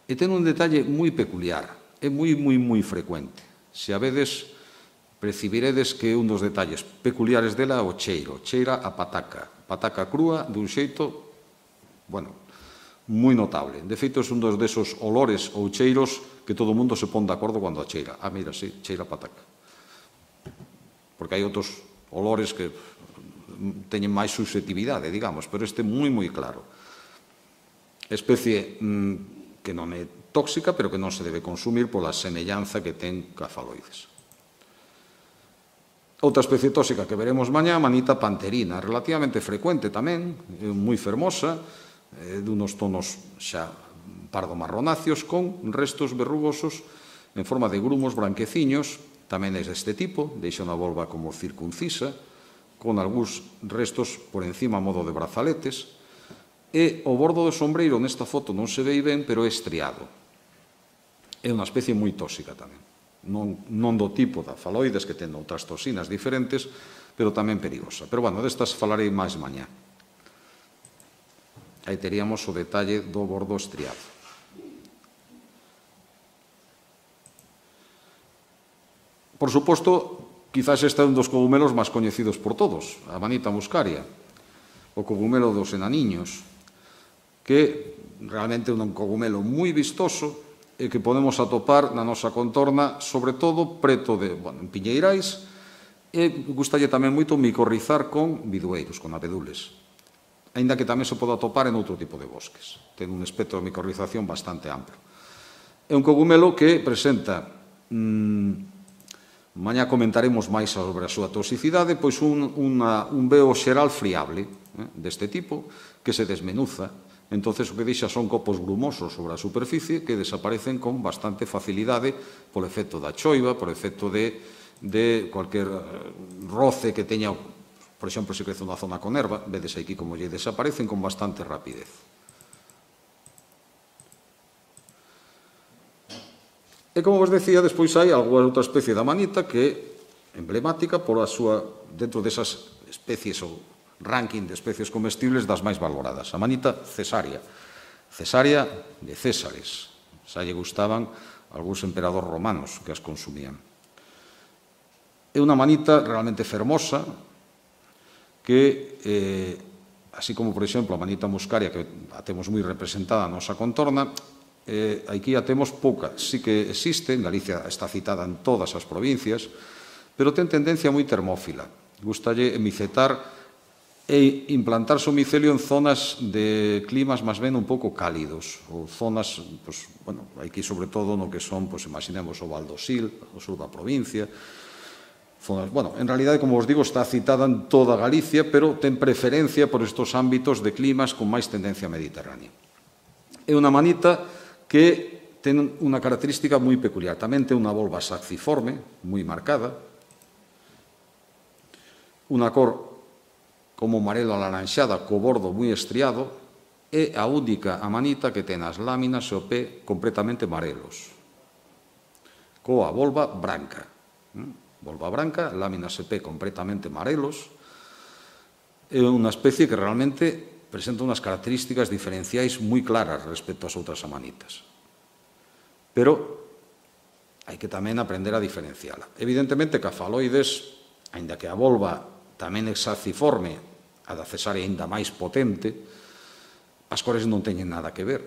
E ten un detalle moi peculiar, é moi, moi, moi frecuente. Se a vedes, percibiredes que un dos detalles peculiares dela é o cheiro, cheira a pataca, pataca crúa dun xeito, bueno, moi notable. De feito, é un dos desos olores ou cheiros que todo o mundo se pon de acordo cando a cheira. Ah, mira, sí, cheira a pataca. Porque hai outros olores que teñen máis susceptibilidade, digamos, pero este é moi, moi claro. Especie mmm, que non é tóxica, pero que non se debe consumir pola semellanza que ten ca faloides. Outra especie tóxica que veremos mañá, a manita panterina, relativamente frecuente tamén, moi fermosa, de unos tonos xa pardo-marronáceos, con restos verrugosos en forma de grumos branqueciños, tamén é deste tipo, deixa unha volva como circuncisa, con algúns restos por encima a modo de brazaletes, e o bordo do sombreiro nesta foto non se vei ben, pero é estriado. É unha especie moi tóxica tamén. Non, non do tipo da faloides, que ten outras toxinas diferentes, pero tamén perigosa. Pero, bueno, destas falarei máis mañá. Aí teríamos o detalle do bordo estriado. Por suposto, quizás este é un dos cogumelos máis coñecidos por todos, a manita muscaria, o cogumelo dos enaniños, que realmente é un cogumelo moi vistoso e que podemos atopar na nosa contorna, sobre todo preto de, bueno, en piñeirais, e gustalle tamén moito micorrizar con bidueiros, con abedules, aínda que tamén se pode atopar en outro tipo de bosques. Ten un espectro de micorrización bastante amplo. É un cogumelo que presenta, mmm, mañá comentaremos máis sobre a súa toxicidade, pois un, una, un veo xeral friable, eh, deste tipo, que se desmenuza. Entonces o que deixa son copos grumosos sobre a superficie que desaparecen con bastante facilidade polo efecto da choiva, por efecto de, de cualquier roce que teña, por exemplo, se crece unha zona con erva, vedes aquí como lle desaparecen con bastante rapidez. E como vos decía, despois hai alguna outra especie da manita que é emblemática por a súa, dentro desas especies ou ranking de especies comestibles das máis valoradas. A manita cesárea. Cesárea de Césares. Xa lle gustaban algúns emperadores romanos que as consumían. É unha manita realmente fermosa que, eh, así como, por exemplo, a manita muscaria, que a temos moi representada na nosa contorna, eh, aquí a temos pouca. Sí que existe, en Galicia está citada en todas as provincias, pero ten tendencia moi termófila. Gustalle micetar e implantarse o micelio en zonas de climas máis ben un pouco cálidos, ou zonas, pues, bueno, aquí sobre todo no que son, pues, imaginemos o Val do Sil, o sur da provincia, zonas, bueno, en realidade, como vos digo, está citada en toda Galicia, pero ten preferencia por estos ámbitos de climas con máis tendencia mediterránea. É unha manita que ten unha característica moi peculiar, tamén ten unha volva saxiforme, moi marcada, unha cor como amarelo alaranxada, co bordo moi estriado, é a única amanita que ten as láminas e o pé completamente amarelos, coa volva branca. Volva branca, láminas e pé completamente amarelos. É unha especie que realmente presenta unhas características diferenciais moi claras respecto ás outras amanitas. Pero hai que tamén aprender a diferenciala. Evidentemente que a faloides, aínda que a volva tamén é saxiforme, a da cesárea ainda máis potente, as cores non teñen nada que ver.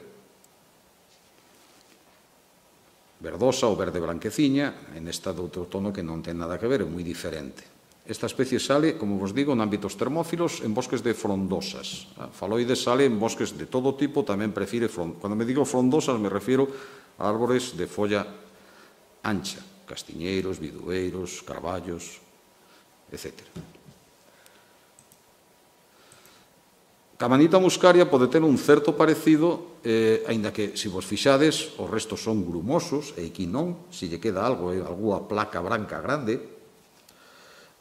Verdosa ou verde branqueciña, en esta de outro tono que non ten nada que ver, é moi diferente. Esta especie sale, como vos digo, en ámbitos termófilos, en bosques de frondosas. A faloides sale en bosques de todo tipo, tamén prefire frondosas. Cando me digo frondosas, me refiro a árbores de folla ancha, castiñeiros, bidueiros, carballos, etcétera. A manita muscaria pode ter un certo parecido, eh, aínda que, se vos fixades, os restos son grumosos, e aquí non, se lle queda algo, eh, alguna placa branca grande.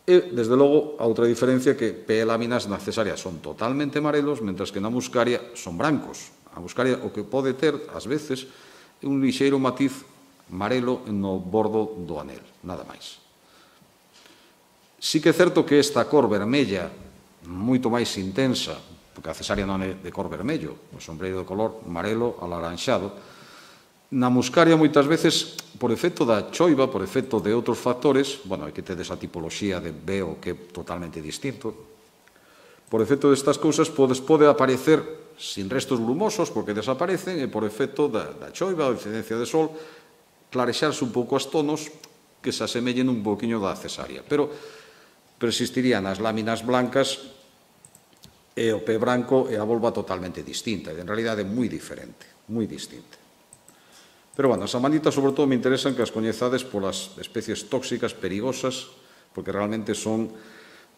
E, desde logo, a outra diferencia é que P e láminas na cesárea son totalmente amarelos, mentras que na muscaria son brancos. A muscaria o que pode ter, ás veces, é un lixeiro matiz amarelo no bordo do anel, nada máis. Sí que é certo que esta cor vermella, moito máis intensa, porque a cesárea non é de cor vermello, o sombreiro de color amarelo alaranxado. Na muscaria, moitas veces, por efecto da choiva, por efecto de outros factores, bueno, hai que ter esa tipoloxía de veo que é totalmente distinto, por efecto destas cousas podes, pode aparecer sin restos grumosos, porque desaparecen, e por efecto da, da choiva, da incidencia de sol, clarexarse un pouco as tonos que se asemellen un poquinho da cesárea. Pero persistirían as láminas blancas e o pé branco e a volva totalmente distinta, e en realidade é moi diferente, moi distinta. Pero, bueno, as amanitas, sobre todo, me interesan que as coñezades polas especies tóxicas, perigosas, porque realmente son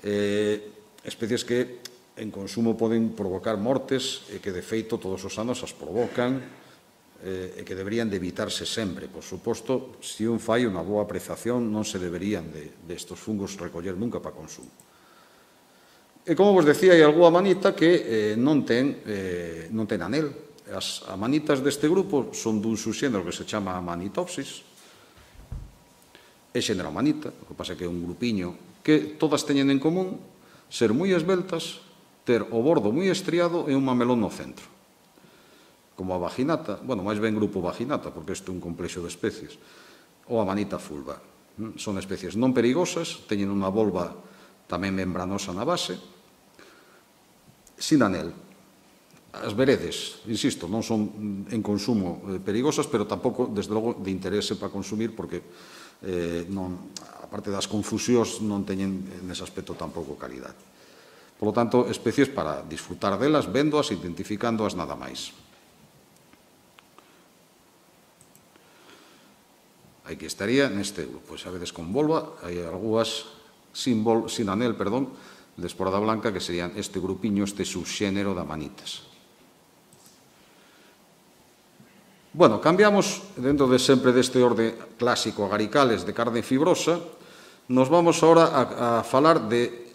eh, especies que en consumo poden provocar mortes e que, de feito, todos os anos as provocan eh, e que deberían de evitarse sempre. Por suposto, se un fai unha boa apreciación, non se deberían de, de estos fungos recoller nunca para consumo. E, como vos decía, hai algunha manita que eh, non, ten, eh, non ten anel. As amanitas deste grupo son dun subxénero que se chama Amanitopsis. É xénero amanita, o que pasa que é un grupiño que todas teñen en común ser moi esbeltas, ter o bordo moi estriado e un mamelón no centro. Como a vaginata, bueno, máis ben grupo vaginata, porque isto é un complexo de especies, ou a manita fulva. Son especies non perigosas, teñen unha volva tamén membranosa na base, sin anel. As veredes, insisto, non son en consumo perigosas, pero tampouco, desde logo, de interese para consumir, porque, eh, non, aparte das confusións, non teñen nese aspecto tampouco calidad. Por lo tanto, especies para disfrutar delas, véndoas, identificándoas, nada máis. Aquí estaría neste grupo. Sabedes con volva, hai algúas sin, vol, sin anel, perdón, de esporada blanca, que serían este grupiño, este subxénero de amanitas. Bueno, cambiamos, dentro de sempre deste orde clásico agaricales de carne fibrosa, nos vamos ahora a, a falar de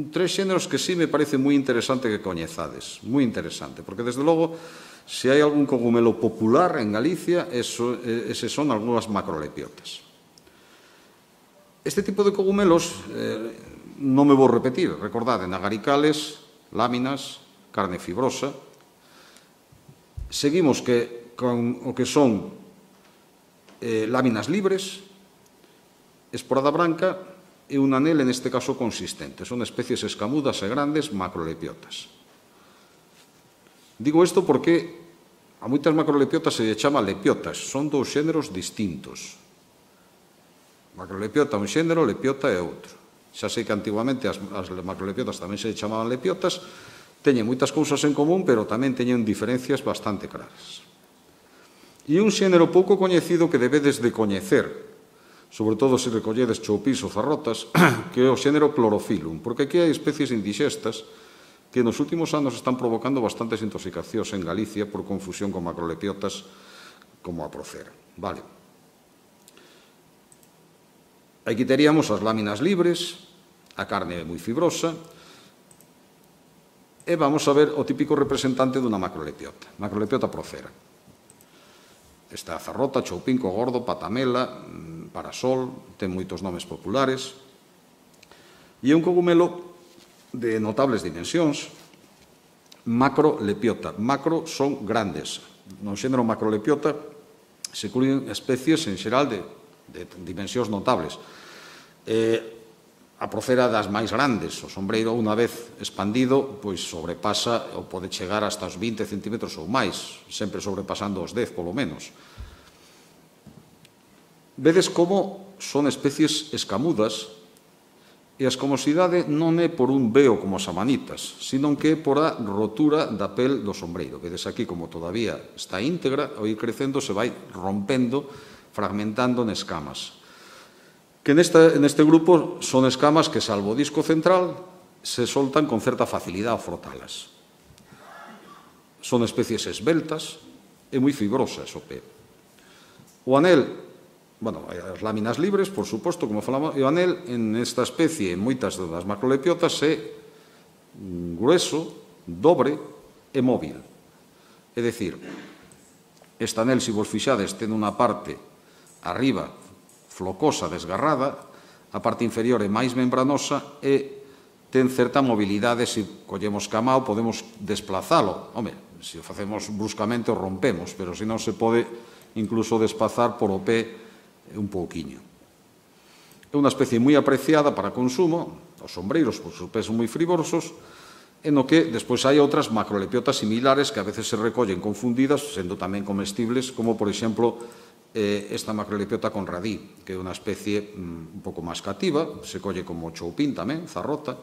tres xéneros que sí me parece moi interesante que coñezades, moi interesante, porque desde logo, se hai algún cogumelo popular en Galicia, eso, ese son algunhas macrolepiotas. Este tipo de cogumelos, eh, non me vou repetir, recordade, agaricales, láminas, carne fibrosa. Seguimos que con o que son eh, láminas libres, esporada branca e un anel, en este caso, consistente. Son especies escamudas e grandes macrolepiotas. Digo isto porque a moitas macrolepiotas se lle chama lepiotas. Son dous xéneros distintos. Macrolepiota é un xénero, lepiota é outro. Xa sei que antiguamente as, as macrolepiotas tamén se chamaban lepiotas, teñen moitas cousas en común, pero tamén teñen diferencias bastante claras. E un xénero pouco coñecido que debedes de coñecer, sobre todo se recolledes choupís ou zarrotas, que é o xénero Chlorophyllum, porque aquí hai especies indixestas que nos últimos anos están provocando bastantes intoxicacións en Galicia por confusión con macrolepiotas como a Procera. Vale. Aquí teríamos as láminas libres, a carne moi fibrosa, e vamos a ver o típico representante dunha macrolepiota, macrolepiota Procera. Está a zarrota, choupinco, gordo, patamela, parasol, ten moitos nomes populares, e é un cogumelo de notables dimensións, macrolepiota. Macro son grandes. No xénero macrolepiota se incluyen especies en xeral de, de dimensións notables. Eh, a Procera das máis grandes. O sombreiro, unha vez expandido, pois sobrepasa ou pode chegar hasta os vinte centímetros ou máis, sempre sobrepasando os dez, polo menos. Vedes como son especies escamudas, e a escamosidade non é por un veo como as amanitas, sino que é por a rotura da pel do sombreiro. Vedes aquí como todavía está íntegra, ao ir crecendo se vai rompendo, fragmentando en escamas. Que neste, neste grupo son escamas que, salvo o disco central, se soltan con certa facilidade ao frotalas. son especies esbeltas e moi fibrosas o pé. O anel, bueno, as láminas libres, por suposto, como falamos, e o anel en esta especie, en moitas das macrolepiotas, é grueso, dobre e móvil. É dicir, este anel, se vos fixades, ten unha parte arriba flocosa, desgarrada, a parte inferior é máis membranosa e ten certa mobilidade. Se collemos camao, podemos desplazalo. Home, se o facemos bruscamente o rompemos, pero se non se pode incluso desplazar por o pé un pouquiño. É unha especie moi apreciada para consumo, os sombreiros, por seus pés son moi friborosos, e no que despois hai outras macrolepiotas similares que a veces se recollen confundidas, sendo tamén comestibles, como, por exemplo, esta macrolepiota conradí, que é unha especie un pouco máis cativa, se colle como choupín tamén, zarrota.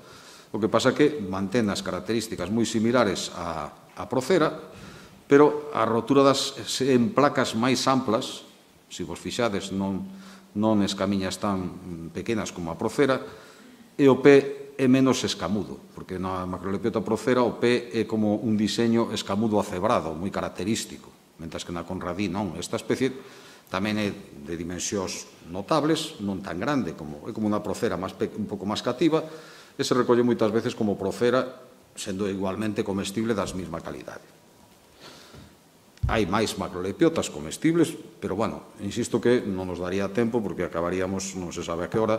O que pasa que mantén as características moi similares á procera, pero a rotura das en placas máis amplas, se vos fixades, non escamiñas tan pequenas como a procera, e o pé é menos escamudo, porque na macrolepiota procera o pé é como un diseño escamudo acebrado, moi característico, mentras que na conradí non. Esta especie tamén é de dimensións notables, non tan grande, é como unha procera un pouco máis cativa, e se recolle moitas veces como procera, sendo igualmente comestible das mesma calidade. Hai máis macrolepiotas comestibles, pero, bueno, insisto que non nos daría tempo, porque acabaríamos, non se sabe a que hora.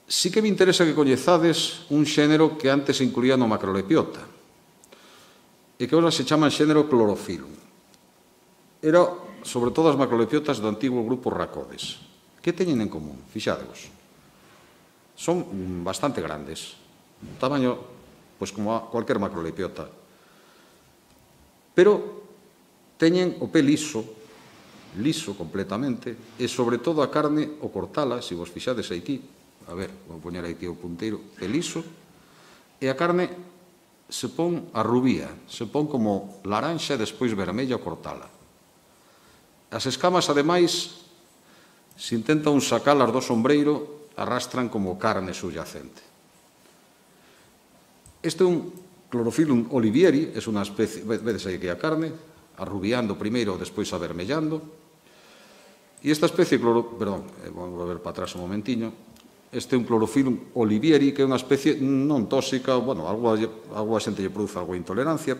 Sí que me interesa que coñezades un xénero que antes se incluía no macrolepiota, e que agora se chama xénero Chlorophyllum. Era, sobre todo, as macrolepiotas do antigo grupo Rhacodes. Que teñen en común? Fixadevos. Son bastante grandes. Tamaño, pois, como cualquier macrolepiota. Pero teñen o pé liso, liso completamente, e, sobre todo, a carne, o cortala, se vos fixades aquí, a ver, vou poñer aquí o punteiro, é liso, e a carne se pon a rubía, se pon como laranxa e despois vermella ao cortala. As escamas, ademais, se intentan sacalas do sombreiro, arrastran como carne subyacente. Este é un Chlorophyllum olivieri, é unha especie, vedes aí que a carne, arrubiando primeiro, despois avermellando, e esta especie, perdón, vamos a ver para atrás un momentiño, este é un Chlorophyllum olivieri, que é unha especie non tóxica, bueno, algo a xente lle produce algo de intolerancia,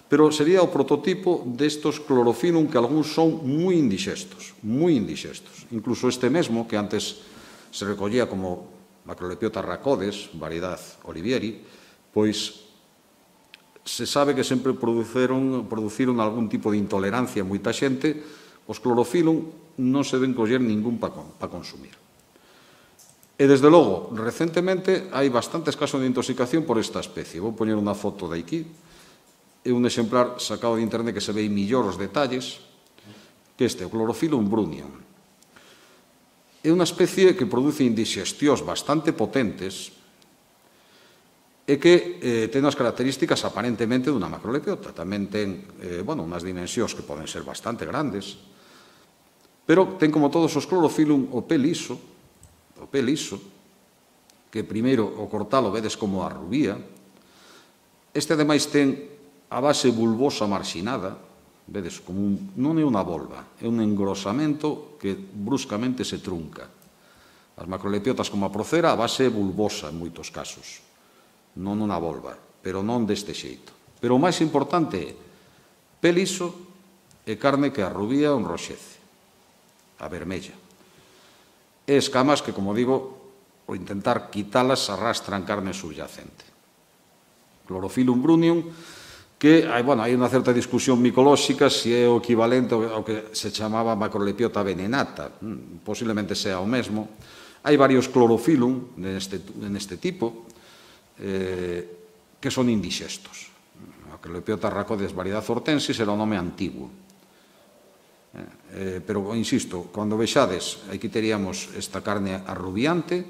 pero sería o prototipo destos Chlorophyllum que algúns son moi indixestos, moi indixestos. Incluso este mesmo, que antes se recollía como macrolepiota Rhacodes, variedade olivieri, pois se sabe que sempre produciron, produciron algún tipo de intolerancia a moita xente. Os Chlorophyllum non se ven coller ningún para consumir. E, desde logo, recentemente hai bastantes casos de intoxicación por esta especie. Vou poñer unha foto de aquí. É un exemplar sacado de internet que se ve millor os detalles, que este, o Chlorophyllum brunnium. É unha especie que produce indigestións bastante potentes e que ten as características aparentemente dunha macrolepiota. Tamén ten unhas dimensións que poden ser bastante grandes, pero ten, como todos os Chlorophyllum, o pé liso, o pé liso, que primeiro o cortalo vedes como a rubía. Este, ademais, ten a base bulbosa marxinada, vedes, como non é unha volva, é un engrosamento que bruscamente se trunca. As macrolepiotas como a procera, a base é bulbosa en moitos casos, non unha volva, pero non deste xeito. Pero o máis importante é pé liso e carne que arrubía ou enroxece, a vermella. E escamas que, como digo, ao intentar quitalas arrastran carne subyacente. Chlorophyllum brunnium, que hai unha certa discusión micolóxica se é o equivalente ao que se chamaba macrolepiota venenata, posiblemente sea o mesmo. Hai varios Chlorophyllum neste tipo, que son indixestos. A Macrolepiota Rhacodes variedade hortensis era o nome antigo. Pero, insisto, cando vexades, aquí teríamos esta carne arrubiante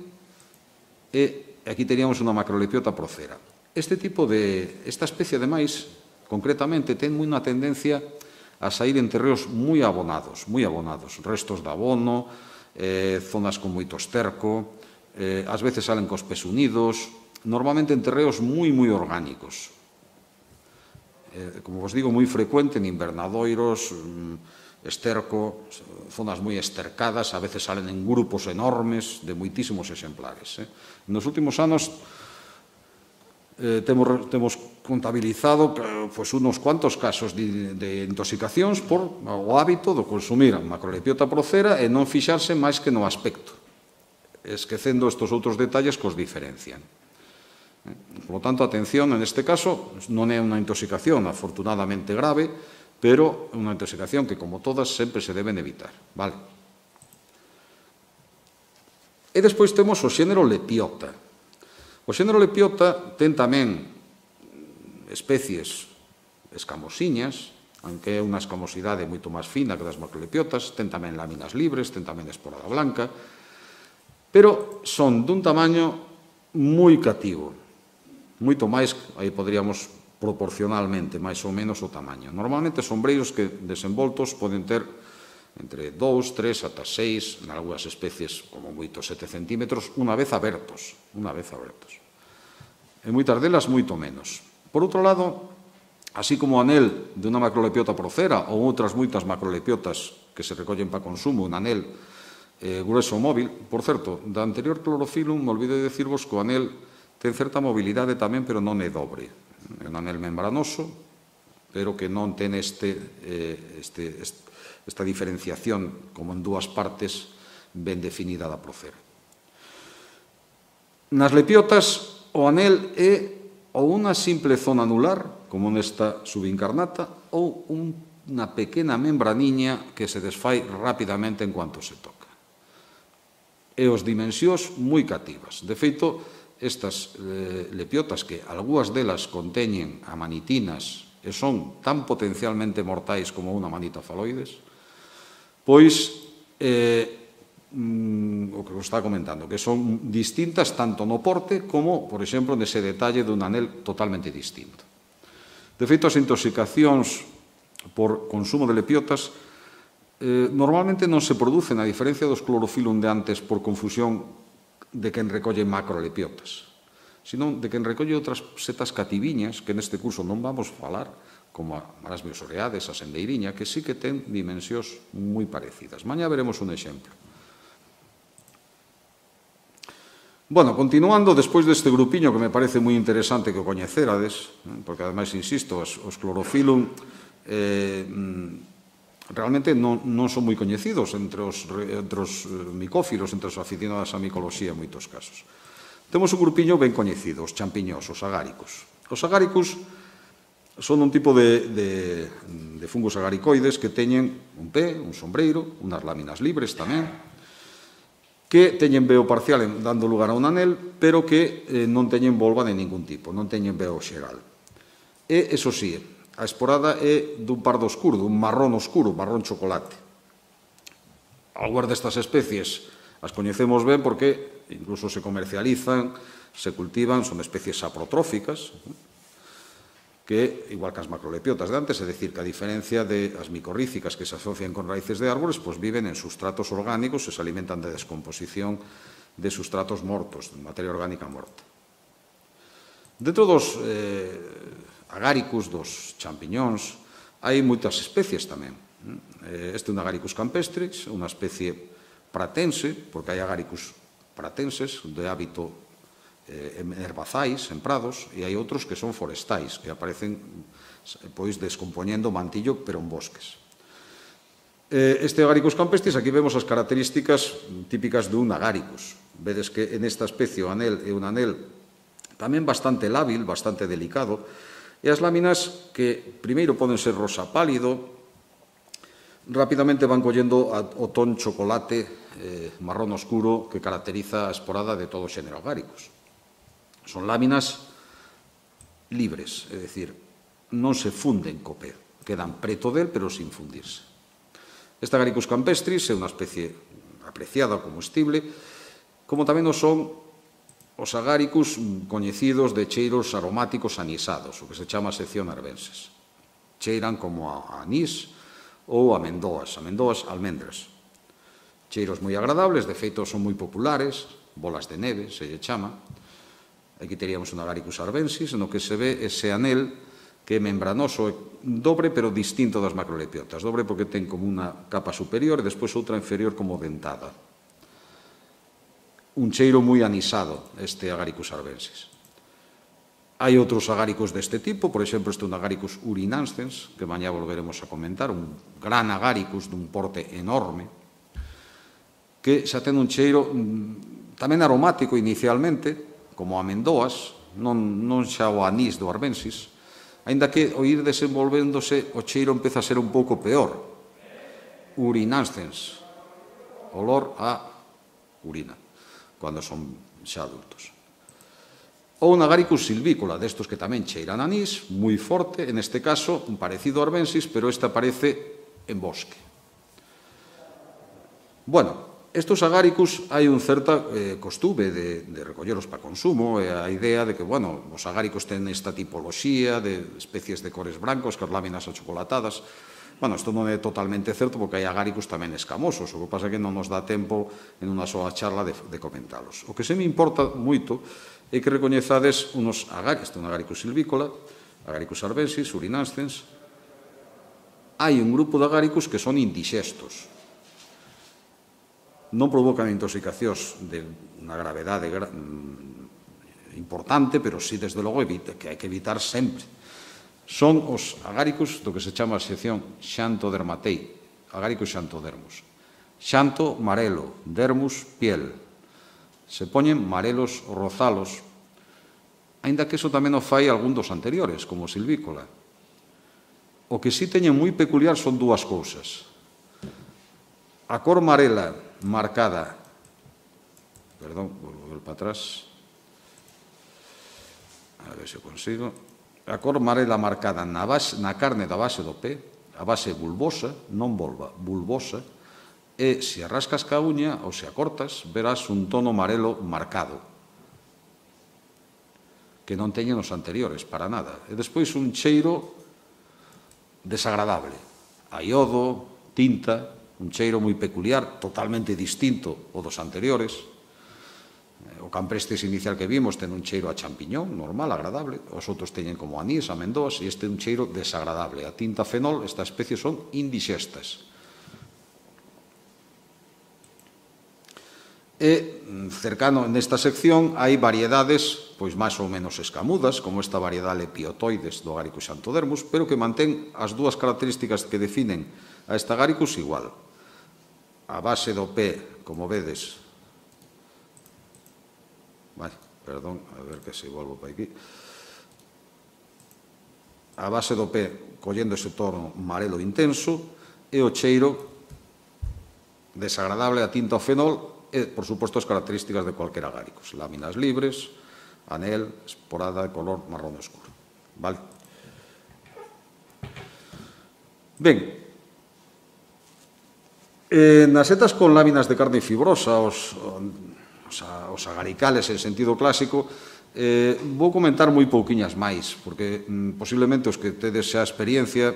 e aquí teríamos unha macrolepiota procera. Este tipo de, esta especie, ademais, concretamente, ten unha tendencia a sair en terreos moi abonados, moi abonados, restos de abono, zonas con moito esterco, ás veces salen cos pés unidos, normalmente en terreos moi, moi orgánicos. Eh, como vos digo, moi frecuente en invernadoiros, esterco, zonas moi estercadas, a veces salen en grupos enormes de moitísimos exemplares. Eh. Nos últimos anos eh, temos, temos contabilizado pues, unos cuantos casos de, de intoxicacións por o hábito de consumir a macrolepiota procera e non fixarse máis que no aspecto, esquecendo estes outros detalles que os diferencian. Por lo tanto, atención, en este caso, non é unha intoxicación afortunadamente grave, pero é unha intoxicación que, como todas, sempre se deben evitar. Vale? E despois temos o xénero Lepiota. O xénero Lepiota ten tamén especies escamosiñas, aunque é unha escamosidade moito máis fina que das macrolepiotas, ten tamén láminas libres, ten tamén esporada blanca, pero son dun tamaño moi cativo, moito máis, aí poderíamos proporcionalmente, máis ou menos o tamaño. Normalmente sombreiros que desenvoltos poden ter entre dous, tres, ata seis, en algunhas especies como moito sete centímetros, unha vez abertos, unha vez abertos. En moitas delas, moito menos. Por outro lado, así como o anel de unha macrolepiota procera ou outras moitas macrolepiotas que se recollen para consumo, un anel eh, grueso móvil, por certo, da anterior clorofilum, me olvidei de decirvos que o anel ten certa mobilidade tamén, pero non é dobre. É un anel membranoso, pero que non ten este, eh, este, este esta diferenciación como en dúas partes ben definida da procera. Nas lepiotas, o anel é ou unha simple zona anular, como nesta subincarnata, ou unha pequena membraniña que se desfai rapidamente en cuanto se toca. E os dimensións moi cativas. De feito, estas eh, lepiotas, que algúas delas conteñen amanitinas e son tan potencialmente mortais como unha manita faloides, pois, eh, mm, o que vos está comentando, que son distintas tanto no porte como, por exemplo, nese detalle dun anel totalmente distinto. De feito, as intoxicacións por consumo de lepiotas eh, normalmente non se producen, a diferencia dos clorofilum de antes, por confusión de quen recolle macrolepiotas, sino de quen recolle outras setas cativiñas, que neste curso non vamos falar, como a marasmiosoreades, a sendeiriña, que sí que ten dimensións moi parecidas. Mañá veremos un exemplo. Bueno, continuando, despois deste grupiño que me parece moi interesante que o coñecerades, porque ademais, insisto, os, os clorofilum eh, realmente non, non son moi coñecidos entre os, entre os micófilos, entre os aficionados á micoloxía en moitos casos. Temos un grupiño ben coñecido, os champiñós, os agáricos. Os agáricos son un tipo de, de, de fungos agaricoides que teñen un pé, un sombreiro, unhas láminas libres tamén, que teñen veo parcial dando lugar a un anel, pero que eh, non teñen volva de ningún tipo, non teñen veo xeral. E, eso sí, a esporada é dun pardo oscuro, dun marrón oscuro, marrón chocolate. Algúas destas especies as coñecemos ben porque incluso se comercializan, se cultivan, son especies saprotróficas, que, igual que as macrolepiotas de antes, é dicir, que a diferencia de as micorrícicas que se asocian con raíces de árboles, pois viven en sustratos orgánicos e se alimentan de descomposición de sustratos mortos, de materia orgánica morta. Dentro dos eh, agáricos, dos champiñóns, hai moitas especies tamén. Este é un Agaricus campestris, unha especie pratense, porque hai agáricos pratenses de hábito en herbazais, en prados, e hai outros que son forestais, que aparecen pois descompoñendo o mantillo, pero en bosques. Este Agaricus campestris, aquí vemos as características típicas dun Agaricus. Vedes que en esta especie o anel é un anel tamén bastante lábil, bastante delicado, e as láminas que primeiro poden ser rosa pálido, rapidamente van collendo o ton chocolate eh, marrón oscuro que caracteriza a esporada de todo o xénero Agaricus. Son láminas libres, é dicir, non se funden co pé, quedan preto del, pero sin fundirse. Este Agaricus campestris é unha especie apreciada como comestible, como tamén o son os Agaricus coñecidos de cheiros aromáticos anisados, o que se chama sección arbenses. Cheiran como a anís ou amendoas, amendoas almendras. Cheiros moi agradables, de feito son moi populares, bolas de neve, se lle chama. Aquí teríamos un Agaricus arvensis, no que se ve ese anel que é membranoso, dobre, pero distinto das macrolepiotas. Dobre porque ten como unha capa superior e despois outra inferior como dentada. Un cheiro moi anisado, este Agaricus arvensis. Hai outros agáricos deste tipo, por exemplo, este é un Agaricus urinanscens, que mañá volveremos a comentar, un gran Agaricus dun porte enorme, que xa ten un cheiro tamén aromático inicialmente, como a amendoas, non, non xa o anís do arvensis, aínda que ao ir desenvolvéndose o cheiro empeza a ser un pouco peor. Urinanscens, olor a urina, cando son xa adultos. Ou un Agaricus silvícola, destos que tamén cheiran anís, moi forte, en este caso, un parecido arvensis, pero este aparece en bosque. Bueno, estos Agaricus hai un certa eh, costume de, de recolleros para consumo, e a idea de que, bueno, os Agaricus ten esta tipoloxía de especies de cores brancos, que as láminas achocolatadas. Bueno, isto non é totalmente certo, porque hai Agaricus tamén escamosos, o que pasa é que non nos dá tempo en unha soa charla de, de comentalos. O que se me importa moito é que recoñezades unos Agaricus, este é un Agaricus silvícola, Agaricus arvensis, urinanscens. Hai un grupo de Agaricus que son indixestos. Non provocan intoxicacións de unha gravedade importante, pero sí, desde logo, que hai que evitar sempre. Son os Agaricus do que se chama a sección xantodermatei, Agaricus xantodermus. Xanto, marelo, dermus, piel. Se poñen marelos ou rozalos, aínda que iso tamén o fai algún dos anteriores, como o silvícola. O que sí teñen moi peculiar son dúas cousas. A cor marela marcada, perdón, vou volver para atrás, a ver se consigo, a cor marela marcada na, base, na carne da base do pé, a base bulbosa, non volva, bulbosa, e se a rascas ca uña ou se a cortas, verás un tono marelo marcado, que non teñen os anteriores, para nada. E despois un cheiro desagradable, a iodo, tinta, un cheiro moi peculiar, totalmente distinto ao dos anteriores. O camprestes inicial que vimos ten un cheiro a champiñón, normal, agradable. Os outros teñen como anís, amendoas, e este é un cheiro desagradable. A tinta fenol, esta especie son indixestas. E cercano nesta sección hai variedades pois máis ou menos escamudas, como esta variedade Lepiotoides do Agaricus xantodermus, pero que mantén as dúas características que definen a esta Agaricus igual. A base do pé, como vedes, vale, perdón, a ver que se volvo para aquí, a base do pé collendo ese tono amarelo intenso e o cheiro desagradable a tinta ao fenol e, por suposto, as características de cualquier Agaricus, láminas libres, anel, esporada de color marrón escuro. Vale? Ben, Eh, nas setas con láminas de carne fibrosa, os, os, os agaricales en sentido clásico, eh, vou comentar moi pouquiñas máis, porque mm, posiblemente os que tedes xa experiencia,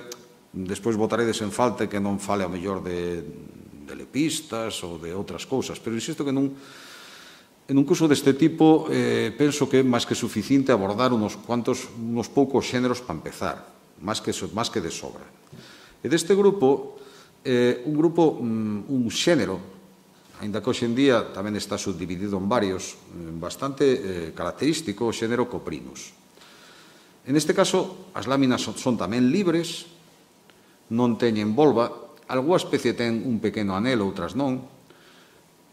despois botaredes en falta que non fale a mellor de, de lepistas ou de outras cousas, pero insisto que nun, en un curso deste tipo eh, penso que é máis que suficiente abordar unos cuantos, unos poucos xéneros para empezar, máis que, máis que de sobra. E deste grupo, Eh, un grupo, un xénero, aínda que hoxe en día tamén está subdividido en varios, bastante eh, característico, o xénero Coprinus. En este caso, as láminas son, son tamén libres, non teñen volva, algunha especie ten un pequeno anel, outras non,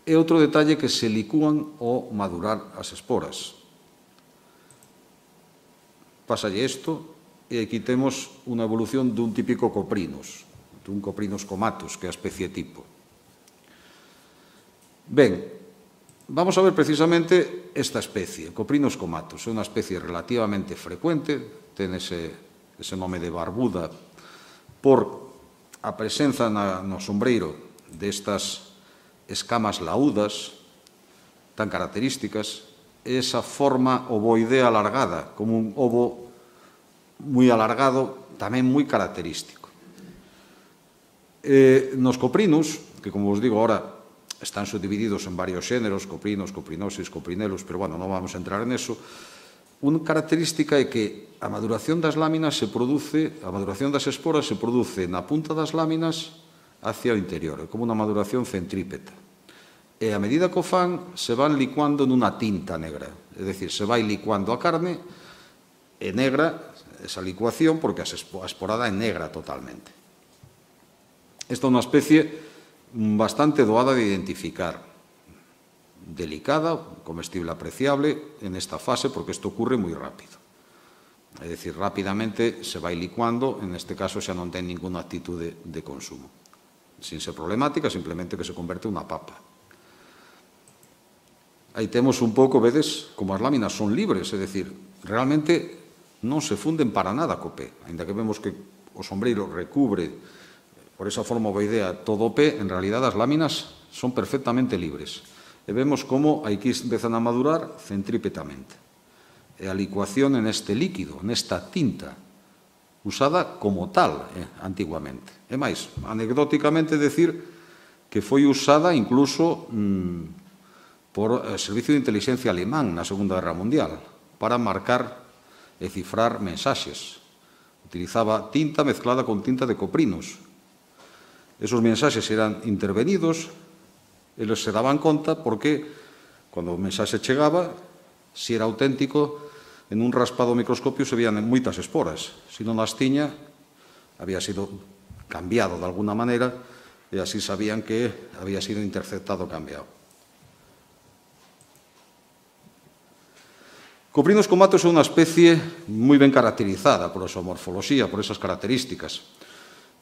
e outro detalle que se licúan ao madurar as esporas. Pásalle isto, e aquí temos unha evolución dun típico Coprinus, un Coprinus comatus, que é a especie tipo. Ben, vamos a ver precisamente esta especie, Coprinus comatus. É unha especie relativamente frecuente, ten ese, ese nome de barbuda por a presenza na, no sombreiro destas escamas laúdas tan características, esa forma ovoidea alargada, como un ovo moi alargado, tamén moi característico. Eh, nos Coprinus, que como vos digo ahora están subdivididos en varios xéneros, Coprinos, Coprinosis, Coprinellus, pero bueno, non vamos a entrar en eso, unha característica é que a maduración das láminas se produce, a maduración das esporas se produce na punta das láminas hacia o interior, é como unha maduración centrípeta. E a medida que o fan, se van licuando nunha tinta negra, é dicir, se vai licuando a carne, é negra esa licuación porque a esporada é negra totalmente. Esta é unha especie bastante doada de identificar, delicada, comestible apreciable en esta fase porque isto ocurre moi rápido. É dicir, rapidamente se vai licuando, en este caso xa non ten ninguna actitude de consumo. Sin ser problemática, simplemente que se converte en unha papa. Aí temos un pouco, vedes, como as láminas son libres, é dicir, realmente non se funden para nada co pé. Ainda que vemos que o sombreiro recubre, por esa forma ovoidea, todo o pé, en realidad as láminas son perfectamente libres. E vemos como aquí empezan a madurar centrípetamente. E a licuación en este líquido, nesta tinta, usada como tal eh, antiguamente. E máis, anecdóticamente decir que foi usada incluso mmm, por o Servicio de Inteligencia alemán na Segunda Guerra Mundial para marcar e cifrar mensaxes. Utilizaba tinta mezclada con tinta de coprinos. Esos mensaxes eran intervenidos, eles se daban conta porque, cando o mensaxe chegaba, se era auténtico, en un raspado microscopio se vían moitas esporas. Se non as tiña, había sido cambiado de alguna maneira e así sabían que había sido interceptado o cambiado. Coprinos comatos é unha especie moi ben caracterizada por a súa morfoloxía, por esas características.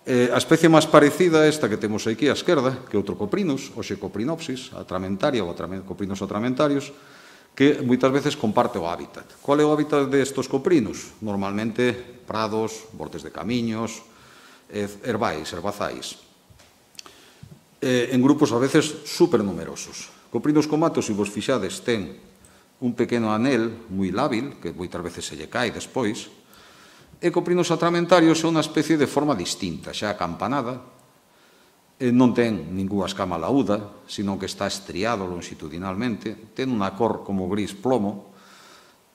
Eh, a especie máis parecida a esta que temos aquí á esquerda, que é outro coprinus, o Xecoprinopsis, atramentaria ou coprinus atramentarios, que moitas veces comparte o hábitat. Qual é o hábitat destos coprinus? Normalmente prados, bordes de camiños, herbais, herbazais. Eh, en grupos a veces supernumerosos. Coprinus comatos, se vos fixades, ten un pequeno anel moi lábil, que moitas veces se lle cae despois, e Coprinus atramentarios é unha especie de forma distinta, xa acampanada, non ten ninguna escama laúda, sino que está estriado longitudinalmente, ten unha cor como gris plomo,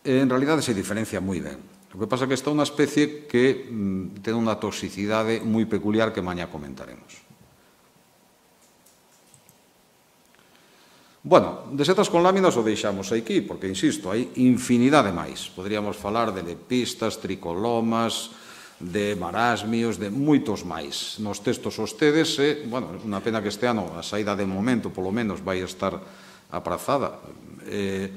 e en realidade se diferencia moi ben. O que pasa é que esta é unha especie que mm, ten unha toxicidade moi peculiar que mañá comentaremos. Bueno, de setas con láminas o deixamos aquí, porque, insisto, hai infinidade máis. Poderíamos falar de lepistas, tricolomas, de marasmios, de moitos máis. Nos textos hostedes, e, bueno, unha pena que este ano a saída de momento, polo menos, vai estar aprazada. Eh,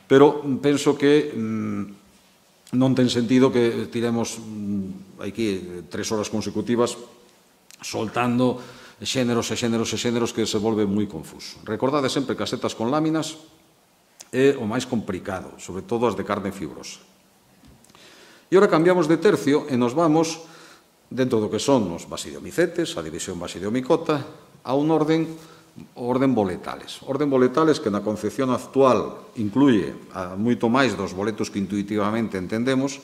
pero penso que mm, non ten sentido que tiremos mm, aquí tres horas consecutivas soltando xéneros e xéneros e xéneros que se volve moi confuso. Recordade sempre que as setas con láminas é o máis complicado, sobre todo as de carne fibrosa. E ora cambiamos de tercio e nos vamos, dentro do que son os basidiomicetes, a división basidiomicota, a un orden, orden boletales. Orden boletales que na concepción actual incluye a moito máis dos boletos que intuitivamente entendemos,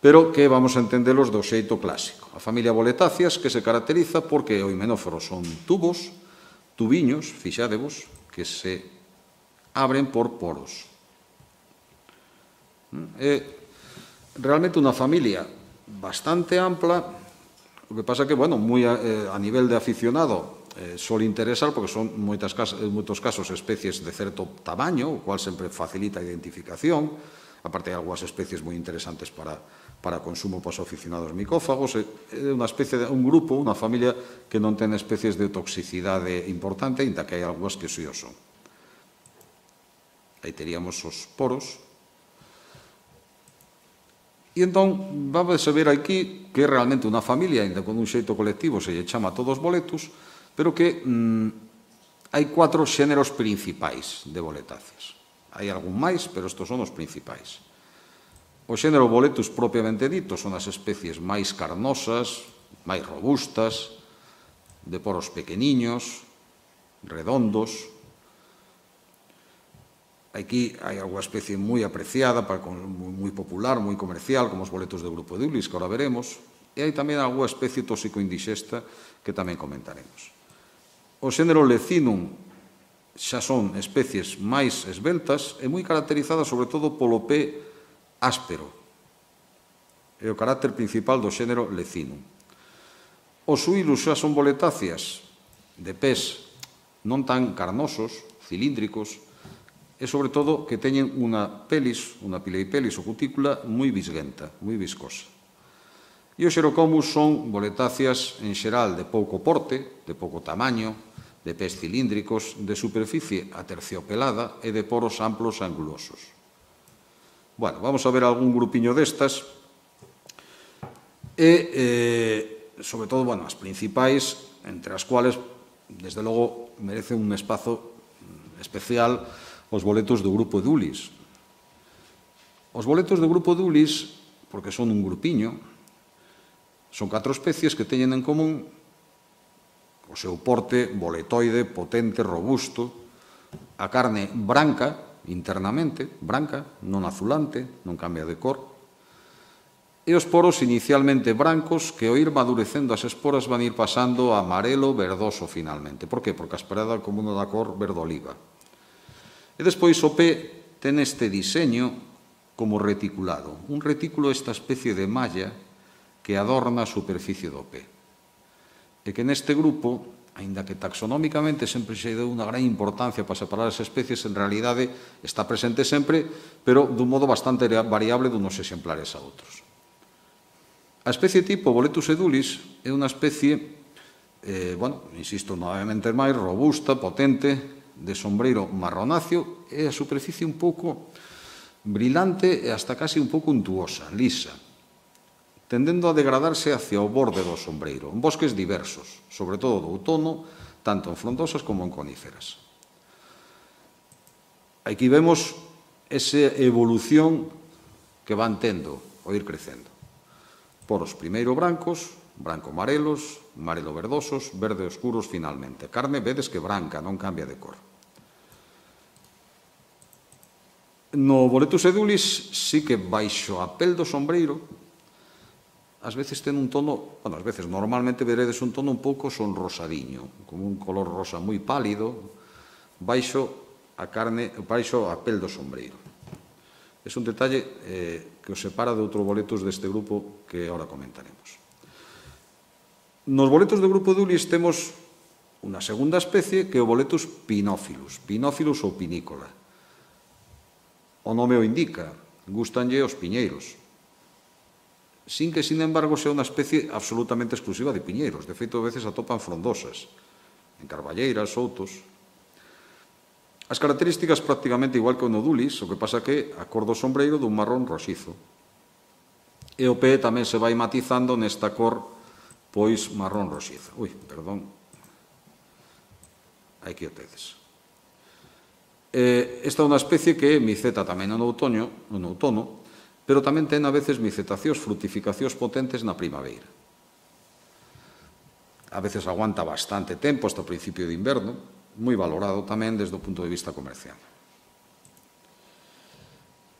pero que vamos a entendelos do xeito clásico. A familia Boletáceas, que se caracteriza porque o himenóforo son tubos, tubiños, fixádevos, que se abren por poros. É realmente unha familia bastante ampla, o que pasa que, bueno, moi a, a nivel de aficionado eh, suele interesar porque son moitas, en moitos casos especies de certo tamaño, o cual sempre facilita a identificación, aparte hai algunhas especies moi interesantes para para consumo para os aficionados micófagos. É unha especie de un grupo, unha familia que non ten especies de toxicidade importante, ainda que hai algunhas que sí o son. Aí teríamos os poros. E entón, vamos a ver aquí que é realmente unha familia, ainda con un xeito colectivo se lle chama todos boletus, pero que mm, hai cuatro xéneros principais de boletáceas. Hai algún máis, pero estos son os principais. O xénero Boletus propiamente dito son as especies máis carnosas, máis robustas, de poros pequeniños, redondos. Aquí hai alguna especie moi apreciada, moi popular, moi comercial, como os boletos do grupo de Ulis, que ahora veremos. E hai tamén alguna especie tóxico-indixesta que tamén comentaremos. O xénero Lecinum xa son especies máis esbeltas e moi caracterizadas sobre todo polo pé áspero. É o carácter principal do xénero Lecinum. Os suílus xa son boletáceas de pés non tan carnosos, cilíndricos, e, sobre todo, que teñen unha pelis, unha pileipelis ou cutícula moi visguenta, moi viscosa. E os xerocomus son boletáceas, en xeral, de pouco porte, de pouco tamaño, de pés cilíndricos, de superficie aterciopelada e de poros amplos e angulosos. Bueno, vamos a ver algún grupiño destas e, eh, sobre todo, bueno, as principais, entre as cuales, desde logo, merecen un espazo especial os boletos do grupo de Ulis. Os boletos do grupo de Ulis, porque son un grupiño, son catro especies que teñen en común o seu porte boletoide, potente, robusto, a carne branca, internamente, branca, non azulante, non cambia de cor, e os poros inicialmente brancos que ao ir madurecendo as esporas van ir pasando a amarelo verdoso finalmente. Por que? Porque a esperada como unha da cor verde oliva. E despois o pé ten este diseño como reticulado. Un retículo é esta especie de malla que adorna a superficie do pé. E que neste grupo, aínda que taxonómicamente sempre se deu unha gran importancia para separar as especies, en realidade está presente sempre, pero dun modo bastante variable dunos exemplares a outros. A especie tipo Boletus edulis é unha especie, eh, bueno, insisto novamente máis, robusta, potente, de sombreiro marronáceo e a superficie un pouco brilante e hasta casi un pouco untuosa, lisa, tendendo a degradarse hacia o borde do sombreiro, en bosques diversos, sobre todo do outono, tanto en frondosas como en coníferas. Aquí vemos esa evolución que van tendo ao ir crecendo. Poros primeiro brancos, branco-marelos, marelo-verdosos, verde oscuros finalmente. Carne, vedes que branca, non cambia de cor. No Boletus edulis sí que baixo a pel do sombreiro, ás veces ten un tono, bueno, ás veces normalmente veredes un tono un pouco sonrosadiño, como un color rosa moi pálido, baixo a carne, baixo a pel do sombreiro. É un detalle eh, que os separa de outro boletus deste grupo que ahora comentaremos. Nos boletos do grupo Edulis temos unha segunda especie que é o Boletus pinófilus, pinófilus ou pinícola. O nome o indica, gustanlle os piñeiros, sin que, sin embargo, sea unha especie absolutamente exclusiva de piñeiros. De feito, a veces atopan frondosas, en carballeiras, soutos. As características prácticamente igual que o nodulis, o que pasa que a cor do sombreiro dun marrón roxizo. E o pé tamén se vai matizando nesta cor, pois, marrón roxizo. Ui, perdón. Aquí o tedes. Esta é unha especie que miceta tamén no outono, no outono, pero tamén ten a veces micetacións, frutificacións potentes na primavera. A veces aguanta bastante tempo, hasta o principio de inverno, moi valorado tamén desde o punto de vista comercial.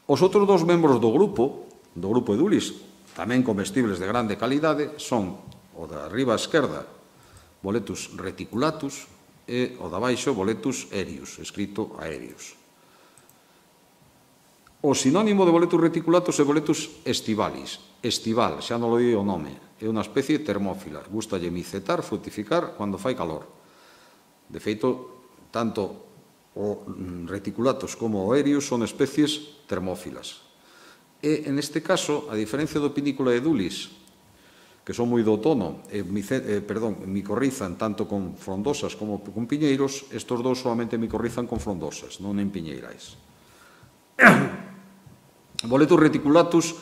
Os outros dos membros do grupo, do grupo Edulis, tamén comestibles de grande calidade, son o da riba esquerda, Boletus reticulatus, e o da baixo, Boletus aéreus, escrito aéreos. O sinónimo de Boletus reticulatus é Boletus estivalis. Estival, xa non lo di o nome, é unha especie termófila. Gustalle micetar, frutificar, cando fai calor. De feito, tanto o reticulatus como o aéreus son especies termófilas. E, en este caso, a diferencia do Pinícola edulis, que son moi do outono, e, eh, perdón, micorrizan tanto con frondosas como con piñeiros, estos dous solamente micorrizan con frondosas, non en piñeirais. Boletus reticulatus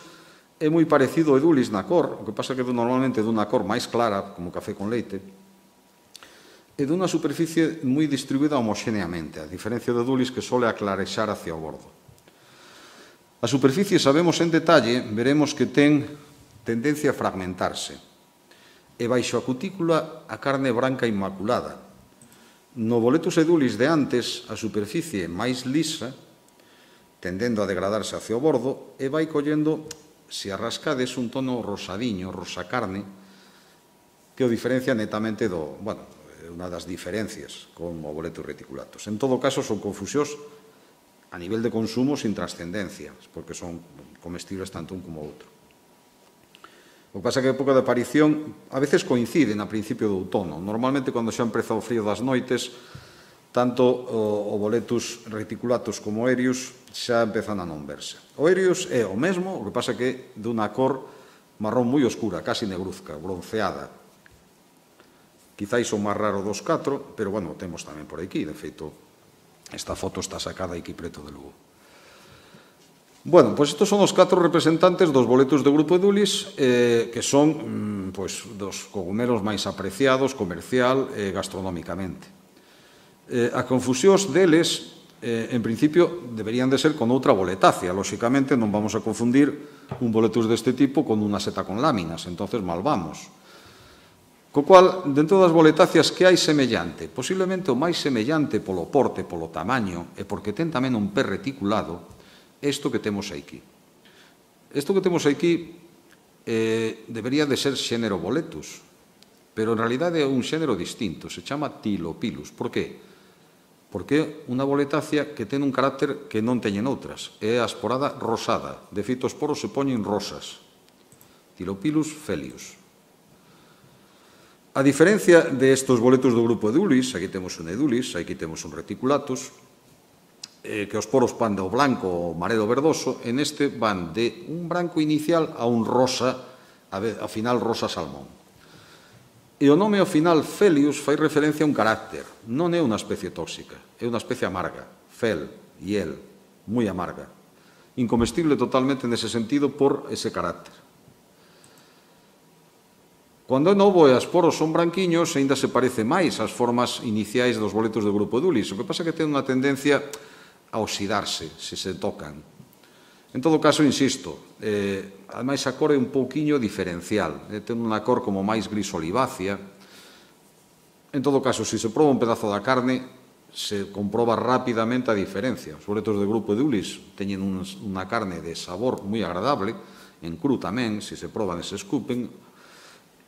é moi parecido ao edulis na cor, o que pasa que normalmente dunha cor máis clara, como café con leite, e dunha superficie moi distribuída homoxéneamente, a diferencia do edulis que sole aclarexar hacia o bordo. A superficie, sabemos en detalle, veremos que ten tendencia a fragmentarse. E baixo a cutícula a carne branca inmaculada. No Boletus edulis de antes, a superficie máis lisa, tendendo a degradarse hacia o bordo, e vai collendo, se arrascades, un tono rosadiño, rosa carne, que o diferencia netamente do, bueno, unha das diferencias con o Boletus reticulatus. En todo caso, son confusións a nivel de consumo sin trascendencia, porque son comestibles tanto un como outro. O que pasa é que a época de aparición a veces coinciden a principio do outono. Normalmente, cando xa empeza o frío das noites, tanto o, o boletus reticulatus como o Erius xa empezan a non verse. O Erius é o mesmo, o que pasa que dunha cor marrón moi oscura, casi negruzca, bronceada. Quizáis o máis raro dos catro, pero, bueno, temos tamén por aquí. De feito, esta foto está sacada aquí preto de Lugo. Bueno, pois estes son os catro representantes dos boletus do grupo Edulis, eh, que son pois, dos cogumelos máis apreciados comercial e gastronómicamente. Eh, a confusións deles, eh, en principio, deberían de ser con outra boletácea. Lóxicamente, non vamos a confundir un boletus deste tipo con unha seta con láminas, entonces mal vamos. Co cual, dentro das boletáceas que hai semellante, posiblemente o máis semellante polo porte, polo tamaño, e porque ten tamén un pé reticulado, isto que temos aquí. Isto que temos aquí eh, debería de ser xénero boletus, pero en realidade é un xénero distinto, se chama Tylopilus. Por que? Porque é unha boletácea que ten un carácter que non teñen outras, é a esporada rosada, de feito os poros se poñen rosas. Tylopilus felius. A diferencia de estos boletus do grupo Edulis, aquí temos un Edulis, aquí temos un Reticulatus, eh, que os poros van do blanco ao marelo verdoso, en este van de un branco inicial a un rosa, ao final rosa salmón. E o nome ao final Felius fai referencia a un carácter, non é unha especie tóxica, é unha especie amarga, fel, hiel, moi amarga, incomestible totalmente nese sentido por ese carácter. Cando é novo e as poros son branquiños, aínda se parece máis ás formas iniciais dos boletos do grupo Edulis. O que pasa é que ten unha tendencia a oxidarse, se se tocan. En todo caso, insisto, eh, ademais a cor é un pouquiño diferencial. Eh, ten unha cor como máis gris olivácea. En todo caso, se se proba un pedazo da carne, se comproba rapidamente a diferencia. Os boletos do grupo Edulis teñen unha carne de sabor moi agradable, en cru tamén, se se proban e se escupen,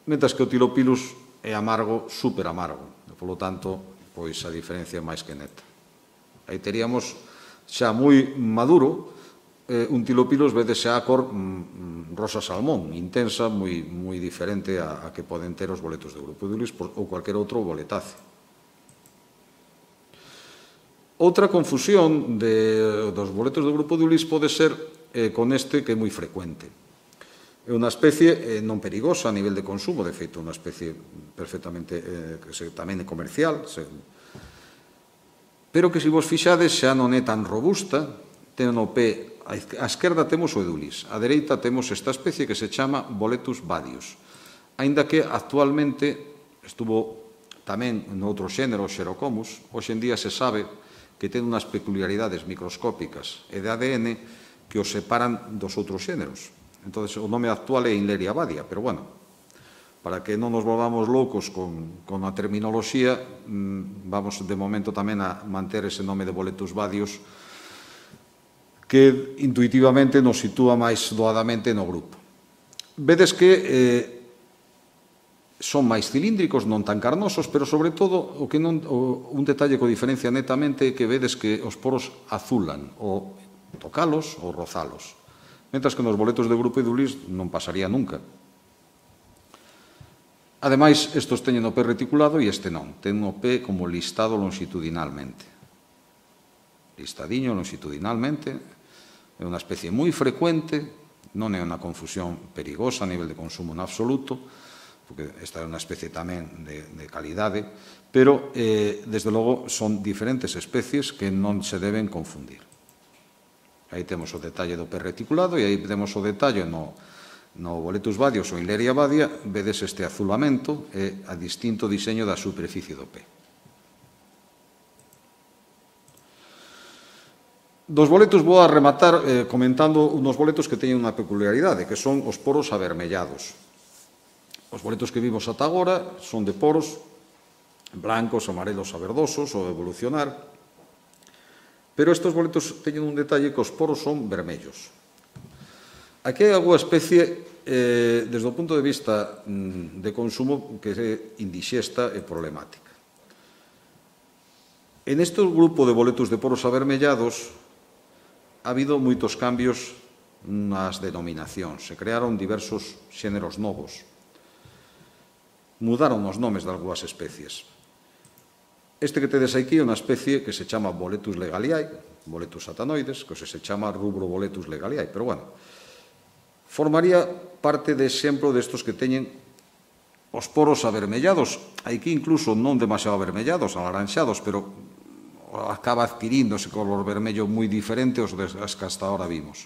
mentras que o Tylopilus é amargo, super amargo. Polo tanto, pois a diferencia é máis que neta. Aí teríamos xa moi maduro un Tylopilus, vedes xa a cor rosa salmón, intensa, moi, moi diferente a, a que poden ter os boletos do grupo Edulis ou cualquier outro boletace. Outra confusión de, dos boletos do grupo Edulis pode ser eh, con este que é moi frecuente. É unha especie eh, non perigosa a nivel de consumo, de feito, unha especie perfectamente eh, que se, tamén é comercial, se, pero que, se vos fixades, xa non é tan robusta, ten o pé, a esquerda temos o Edulis, a dereita temos esta especie que se chama Boletus badius, aínda que actualmente estuvo tamén noutro xénero, Xerocomus, hoxe en día se sabe que ten unhas peculiaridades microscópicas e de A D N que os separan dos outros xéneros. Entón, o nome actual é Inleria badia, pero, bueno, para que non nos volvamos loucos con, con a terminoloxía, mmm, vamos de momento tamén a manter ese nome de Boletus badius, que intuitivamente nos sitúa máis doadamente no grupo. Vedes que eh, son máis cilíndricos, non tan carnosos, pero, sobre todo, o que non, o, un detalle que o diferencia netamente é que vedes que os poros azulan, ou tocalos ou rozalos. Mentras que nos boletos do grupo Edulis non pasaría nunca. Ademais, estos teñen o pé reticulado e este non. Ten o pé como listado longitudinalmente. Listadiño longitudinalmente. É unha especie moi frecuente, non é unha confusión perigosa a nivel de consumo en absoluto, porque esta é unha especie tamén de, de calidade, pero, eh, desde logo, son diferentes especies que non se deben confundir. Aí temos o detalle do pé reticulado e aí temos o detalle no, no Boletus badius ou Inleria badia, vedes este azulamento e a distinto diseño da superficie do pé. Dos boletus vou a rematar eh, comentando unos boletos que teñen unha peculiaridade, que son os poros avermellados. Os boletos que vimos ata agora son de poros blancos, amarelos a verdosos ou evolucionar, pero estes boletos teñen un detalle que os poros son vermellos. Aquí hai algunha especie, eh, desde o punto de vista mm, de consumo, que é indixesta e problemática. En este grupo de boletos de poros avermellados, ha habido moitos cambios nas denominacións. Se crearon diversos xéneros novos. Mudaron os nomes de algunhas especies. Este que tedes aquí é unha especie que se chama Boletus legaliae, Boletus satanoides, que se chama Rubro Boletus legaliae, pero bueno, formaría parte de exemplo destos que teñen os poros avermellados, aquí incluso non demasiado avermellados, alaranxados, pero acaba adquirindo ese color vermello moi diferente aos que hasta ahora vimos,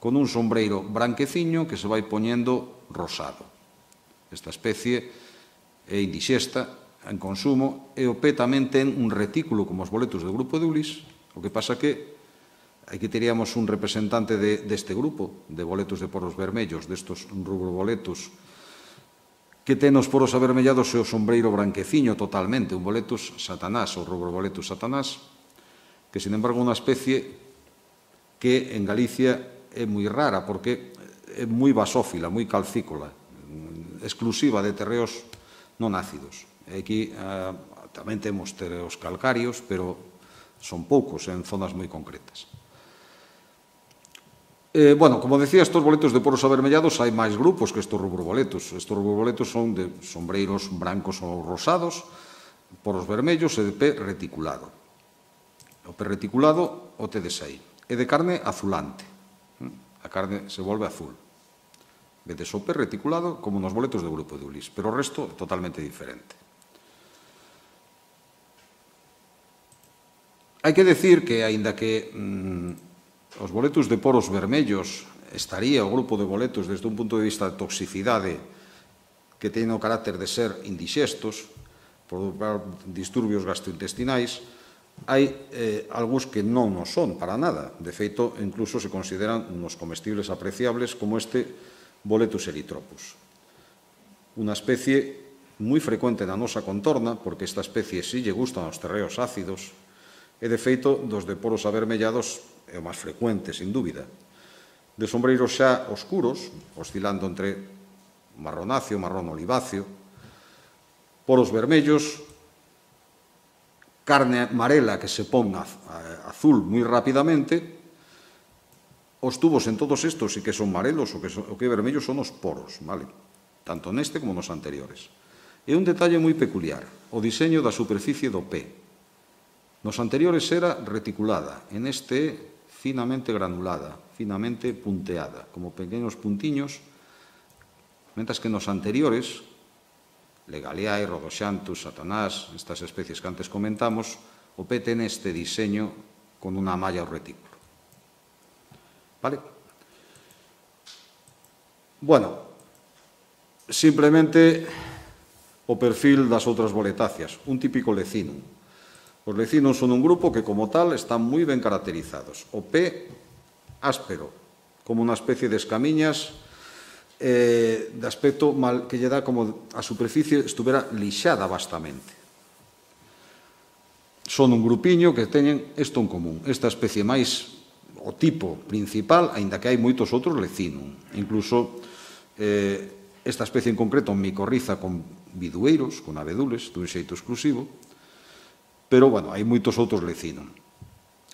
con un sombreiro branqueciño que se vai poñendo rosado. Esta especie é indixesta en consumo e o pé tamén ten un retículo como os boletus do grupo de Ulis, o que pasa que aquí teríamos un representante de, deste grupo de boletus de poros vermellos, destos rubroboletus, que ten os poros avermellados e o sombreiro branqueciño totalmente, un boletus satanás, ou rubroboletus satanás, que, sin embargo, é unha especie que en Galicia é moi rara, porque é moi basófila, moi calcícola, exclusiva de terreos non ácidos. E aquí eh, tamén temos terreos calcarios, pero son poucos en zonas moi concretas. Eh, bueno, como decía, estos boletos de poros avermellados hai máis grupos que estos rubroboletos. Estos rubroboletos son de sombreiros brancos ou rosados, poros vermellos e de pé reticulado. O pé reticulado o tedes aí. É de carne azulante. A carne se volve azul. Vedes o pé reticulado como nos boletos do grupo de Ulis, pero o resto é totalmente diferente. Hai que decir que, aínda que mmm, os boletus de poros vermellos estaría o grupo de boletus desde un punto de vista de toxicidade que teñen o carácter de ser indixestos por disturbios gastrointestinais, hai eh, algúns que non o son para nada. De feito, incluso se consideran uns comestibles apreciables como este Boletus erythropus. Unha especie moi frecuente na nosa contorna, porque esta especie si lle gustan os terreos ácidos, e de feito dos de poros avermellados é o máis frecuente, sin dúbida. De sombreiros xa oscuros, oscilando entre marronáceo, marrón oliváceo, poros vermellos, carne amarela que se pon azul moi rapidamente. Os tubos en todos estos sí que son marelos, o que, son, o que vermellos son os poros, vale? Tanto neste como nos anteriores. E un detalle moi peculiar, o diseño da superficie do pé. Nos anteriores era reticulada, en este é finamente granulada, finamente punteada, como pequenos puntiños, mentras que nos anteriores, Legaliae, Rhodoxanthus, Satanás, estas especies que antes comentamos, o pé ten este diseño con unha malla ao retículo. Vale? Bueno, simplemente o perfil das outras boletáceas, un típico lecinum. Os lecinum son un grupo que, como tal, están moi ben caracterizados. O pé áspero, como unha especie de escamiñas eh, de aspecto mal, que lle dá como a superficie estuvera lixada vastamente. Son un grupiño que teñen isto en común, esta especie máis o tipo principal, aínda que hai moitos outros lecinum. Incluso eh, esta especie en concreto micorriza con bidueiros, con abedules, dun xeito exclusivo, pero, bueno, hai moitos outros lecinum.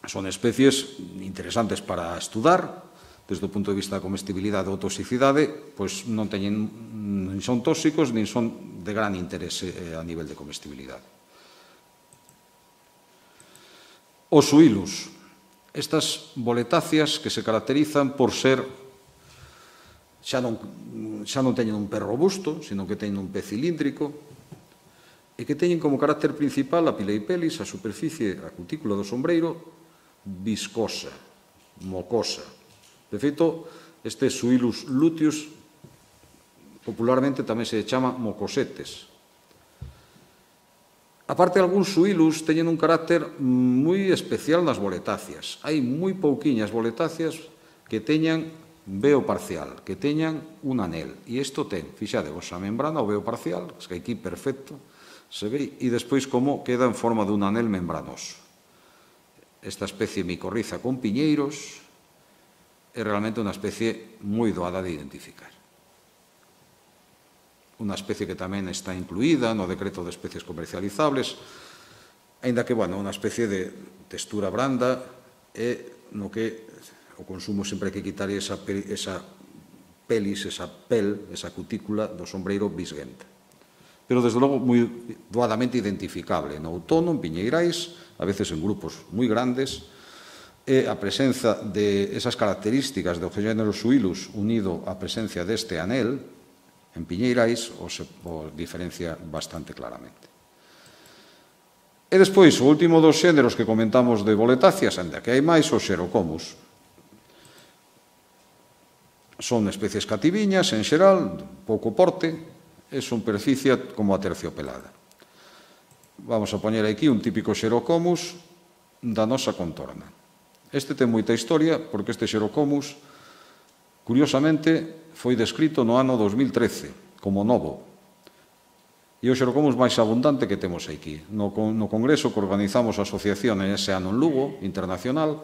Son especies interesantes para estudar, desde o punto de vista da comestibilidade ou toxicidade, pois non teñen, nin son tóxicos, nin son de gran interese a nivel de comestibilidade. Os suilus. Estas boletáceas que se caracterizan por ser, xa non, xa non teñen un pé robusto, sino que teñen un pé cilíndrico, e que teñen como carácter principal a pileipelis, a superficie, a cutícula do sombreiro, viscosa, mocosa. De feito, este Suilus luteus popularmente tamén se chama mocosetes. Aparte, algúns suilus teñen un carácter moi especial nas boletáceas. Hai moi pouquiñas boletáceas que teñan veo parcial, que teñan un anel. E isto ten, fixadevos, a membrana, o veo parcial, que aquí perfecto, se ve, e despois como queda en forma dun anel membranoso. Esta especie micorriza con piñeiros é realmente unha especie moi doada de identificar. Unha especie que tamén está incluída no decreto de especies comercializables, aínda que, bueno, unha especie de textura branda, e no que o consumo sempre hai que quitar esa, esa pelis, esa pel, esa cutícula do sombreiro bisguenta. Pero, desde logo, moi doadamente identificable. No outono, en piñeirais, a veces en grupos moi grandes, e a presenza de esas características do género Suilus unido á presencia deste anel en piñeirais o se o diferencia bastante claramente. E despois, o último dos xéneros que comentamos de boletáceas, ainda que hai máis, os xerocomus. Son especies cativiñas, en xeral, pouco porte, e son superficie como a terciopelada. Vamos a poñer aquí un típico xerocomus da nosa contorna. Este ten moita historia, porque este xerocomus, curiosamente, foi descrito no ano dos mil trece, como novo. E o xerocomus máis abundante que temos aquí. No, no congreso que organizamos a asociación en ese ano en Lugo, internacional,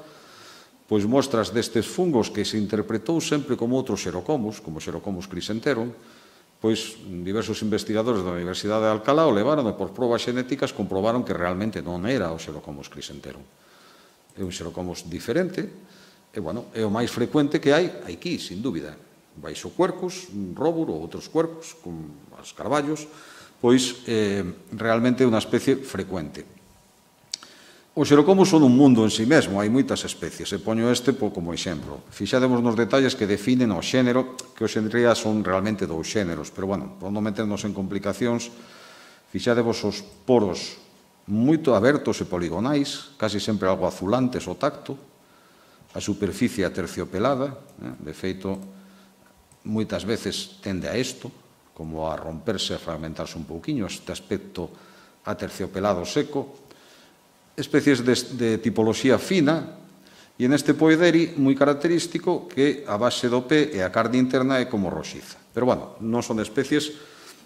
pois mostras destes fungos que se interpretou sempre como outros xerocomus, como xerocomus crisenterum, pois diversos investigadores da Universidade de Alcalá o levaron e por probas xenéticas comprobaron que realmente non era o xerocomus crisenterum. É un xerocomus diferente, e, bueno, é o máis frecuente que hai aquí, sin dúbida. Baixo cuercus, róbur ou outros cuercus, con os carballos, pois eh, realmente é unha especie frecuente. Os xerocomus son un mundo en si mesmo, hai moitas especies, e poño este como exemplo. Fixademos nos detalles que definen o xénero, que hoxe en día son realmente dous xéneros, pero, bueno, por non meternos en complicacións, fixademos os poros moito abertos e poligonais, casi sempre algo azulantes ao tacto, a superficie aterciopelada, de feito, moitas veces tende a isto, como a romperse, a fragmentarse un pouquiño, este aspecto aterciopelado seco, especies de, de tipoloxía fina, e neste poederi moi característico que a base do pé e a carne interna é como roxiza. Pero, bueno, non son especies,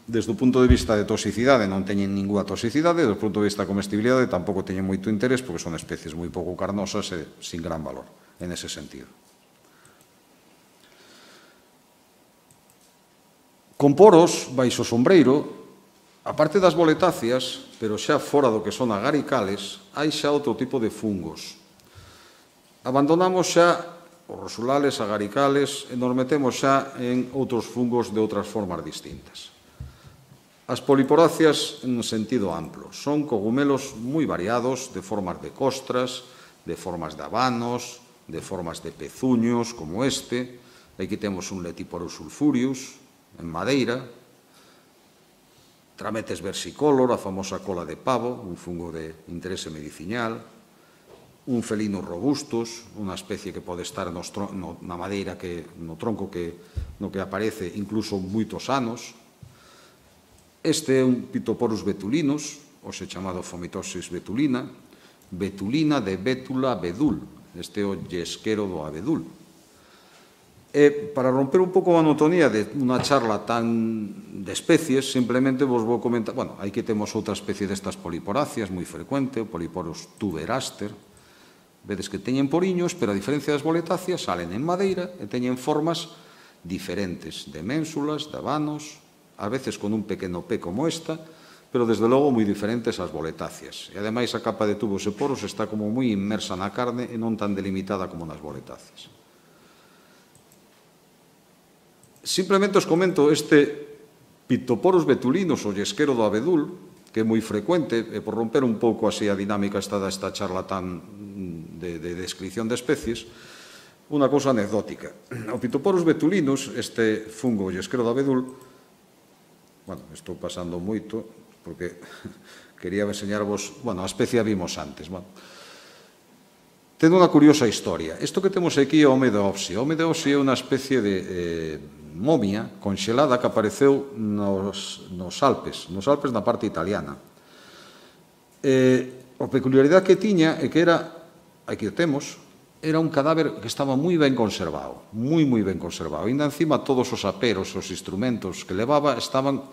desde o punto de vista de toxicidade, non teñen ninguna toxicidade, desde o punto de vista de comestibilidade tampouco teñen moito interés, porque son especies moi pouco carnosas e sin gran valor, en ese sentido. Con poros, baixo sombreiro, aparte das boletáceas, pero xa fora do que son agaricales, hai xa outro tipo de fungos. Abandonamos xa os rosulales, agaricales, e nos metemos xa en outros fungos de outras formas distintas. As poliporáceas en sentido amplo son cogumelos moi variados, de formas de costras, de formas de habanos, de formas de pezuños, como este. Aquí temos un Letiporus sulfurius, en madeira, Trametes versicolor, a famosa cola de pavo, un fungo de interese medicinal, un Felinus robustus, unha especie que pode estar nos, no, na madeira, que, no tronco que, no que aparece incluso moitos anos. Este é un Phytoporus betulinus, hoxe chamado Fomitosis betulina, betulina de bétula abedul, este é o llesquero do abedul. E, para romper un pouco a monotonía de unha charla tan de especies, simplemente vos vou comentar, bueno, aquí temos outra especie destas poliporáceas moi frecuente, o Polyporus tuberaster. Vedes que teñen poriños, pero a diferencia das boletáceas, salen en madeira e teñen formas diferentes, de ménsulas, de habanos, a veces con un pequeno pé como esta, pero desde logo moi diferentes ás boletáceas. E ademais a capa de tubos e poros está como moi inmersa na carne e non tan delimitada como nas boletáceas. Simplemente os comento este Phytoporus betulinus, o llesquero do abedul, que é moi frecuente, e por romper un pouco así a dinámica esta desta charla tan de, de descripción de especies, unha cousa anecdótica. O Phytoporus betulinus, este fungo llesquero do abedul, bueno, estou pasando moito, porque quería enseñarvos, bueno, a especie a vimos antes, bueno. Ten unha curiosa historia. Isto que temos aquí é o Homedeopsi. O Homedeopsi é unha especie de eh, momia conxelada que apareceu nos, nos Alpes, nos Alpes na parte italiana. Eh, a peculiaridade que tiña é que era, aquí o temos, era un cadáver que estaba moi ben conservado, moi, moi ben conservado. Ainda encima todos os aperos, os instrumentos que levaba estaban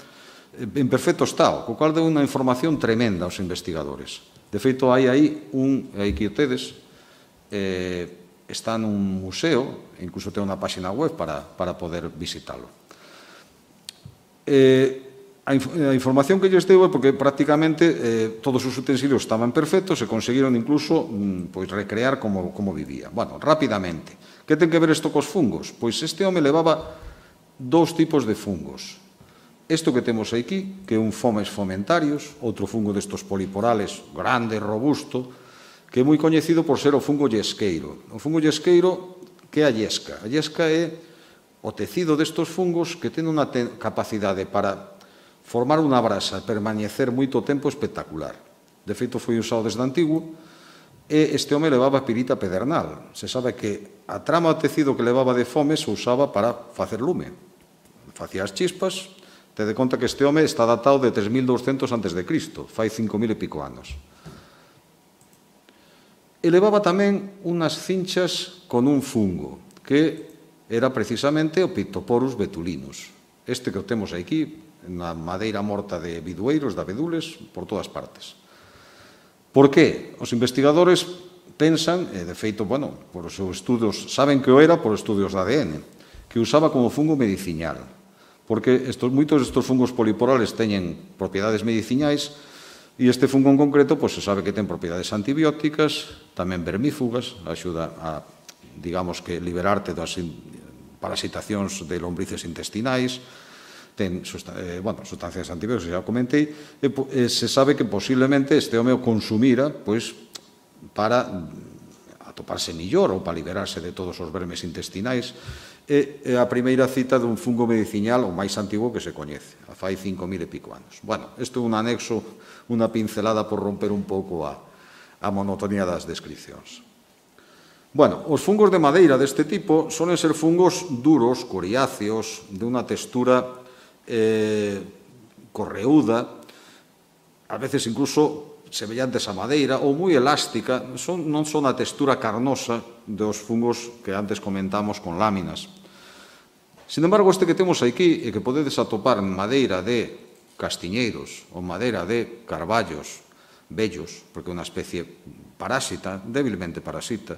en perfecto estado, co cual deu unha información tremenda aos investigadores. De feito, hai aí un, aquí o tedes, Eh, está nun museo, incluso ten unha página web para, para poder visitarlo. Eh, A, inf a información que lles deu é porque prácticamente eh, todos os utensilios estaban perfectos e conseguiron incluso mm, pois, recrear como, como vivía. Bueno, rapidamente. Que ten que ver isto cos fungos? Pois este home levaba dous tipos de fungos. Isto que temos aquí, que é un fomes fomentarius, outro fungo destos poliporales grande, robusto, que é moi coñecido por ser o fungo yesqueiro. O fungo yesqueiro, que é a yesca? A yesca é o tecido destos fungos que ten unha te capacidade para formar unha brasa e permanecer moito tempo espectacular. De feito, foi usado desde antigo e este home levaba pirita pedernal. Se sabe que a trama do tecido que levaba de fome se usaba para facer lume. Facía as chispas. Te de conta que este home está datado de tres mil douscentos antes de Cristo, fai cinco mil e pico anos. E levaba tamén unhas cinchas con un fungo, que era precisamente o Pictoporus betulinus. Este que o temos aquí, na madeira morta de bidueiros, de abedules, por todas partes. Por que? Os investigadores pensan, e de feito, bueno, por os seus estudos, saben que o era por estudios de A D N, que usaba como fungo medicinal. Porque estos, moitos destes fungos poliporales teñen propiedades medicinais e este fungo en concreto, pois, se sabe que ten propiedades antibióticas, tamén vermífugas, axuda a, digamos que, liberarte das parasitacións de lombrices intestinais, ten eh, bueno, sustancias antibióticas, xa comentei, e, e se sabe que posiblemente este home o consumira pois, para atoparse millor ou para liberarse de todos os vermes intestinais. É a primeira cita dun fungo medicinal o máis antigo que se coñece, a fai cinco mil e pico anos. Bueno, isto é un anexo, unha pincelada por romper un pouco a, a monotonía das descripcións. Bueno, os fungos de madeira deste tipo solen ser fungos duros, coriáceos, de unha textura eh, correuda, a veces incluso semellantes a madeira ou moi elástica, son, non son a textura carnosa dos fungos que antes comentamos con láminas. Sin embargo, este que temos aquí e que podedes atopar en madeira de castiñeiros ou madeira de carballos vellos, porque é unha especie parásita, débilmente parasita,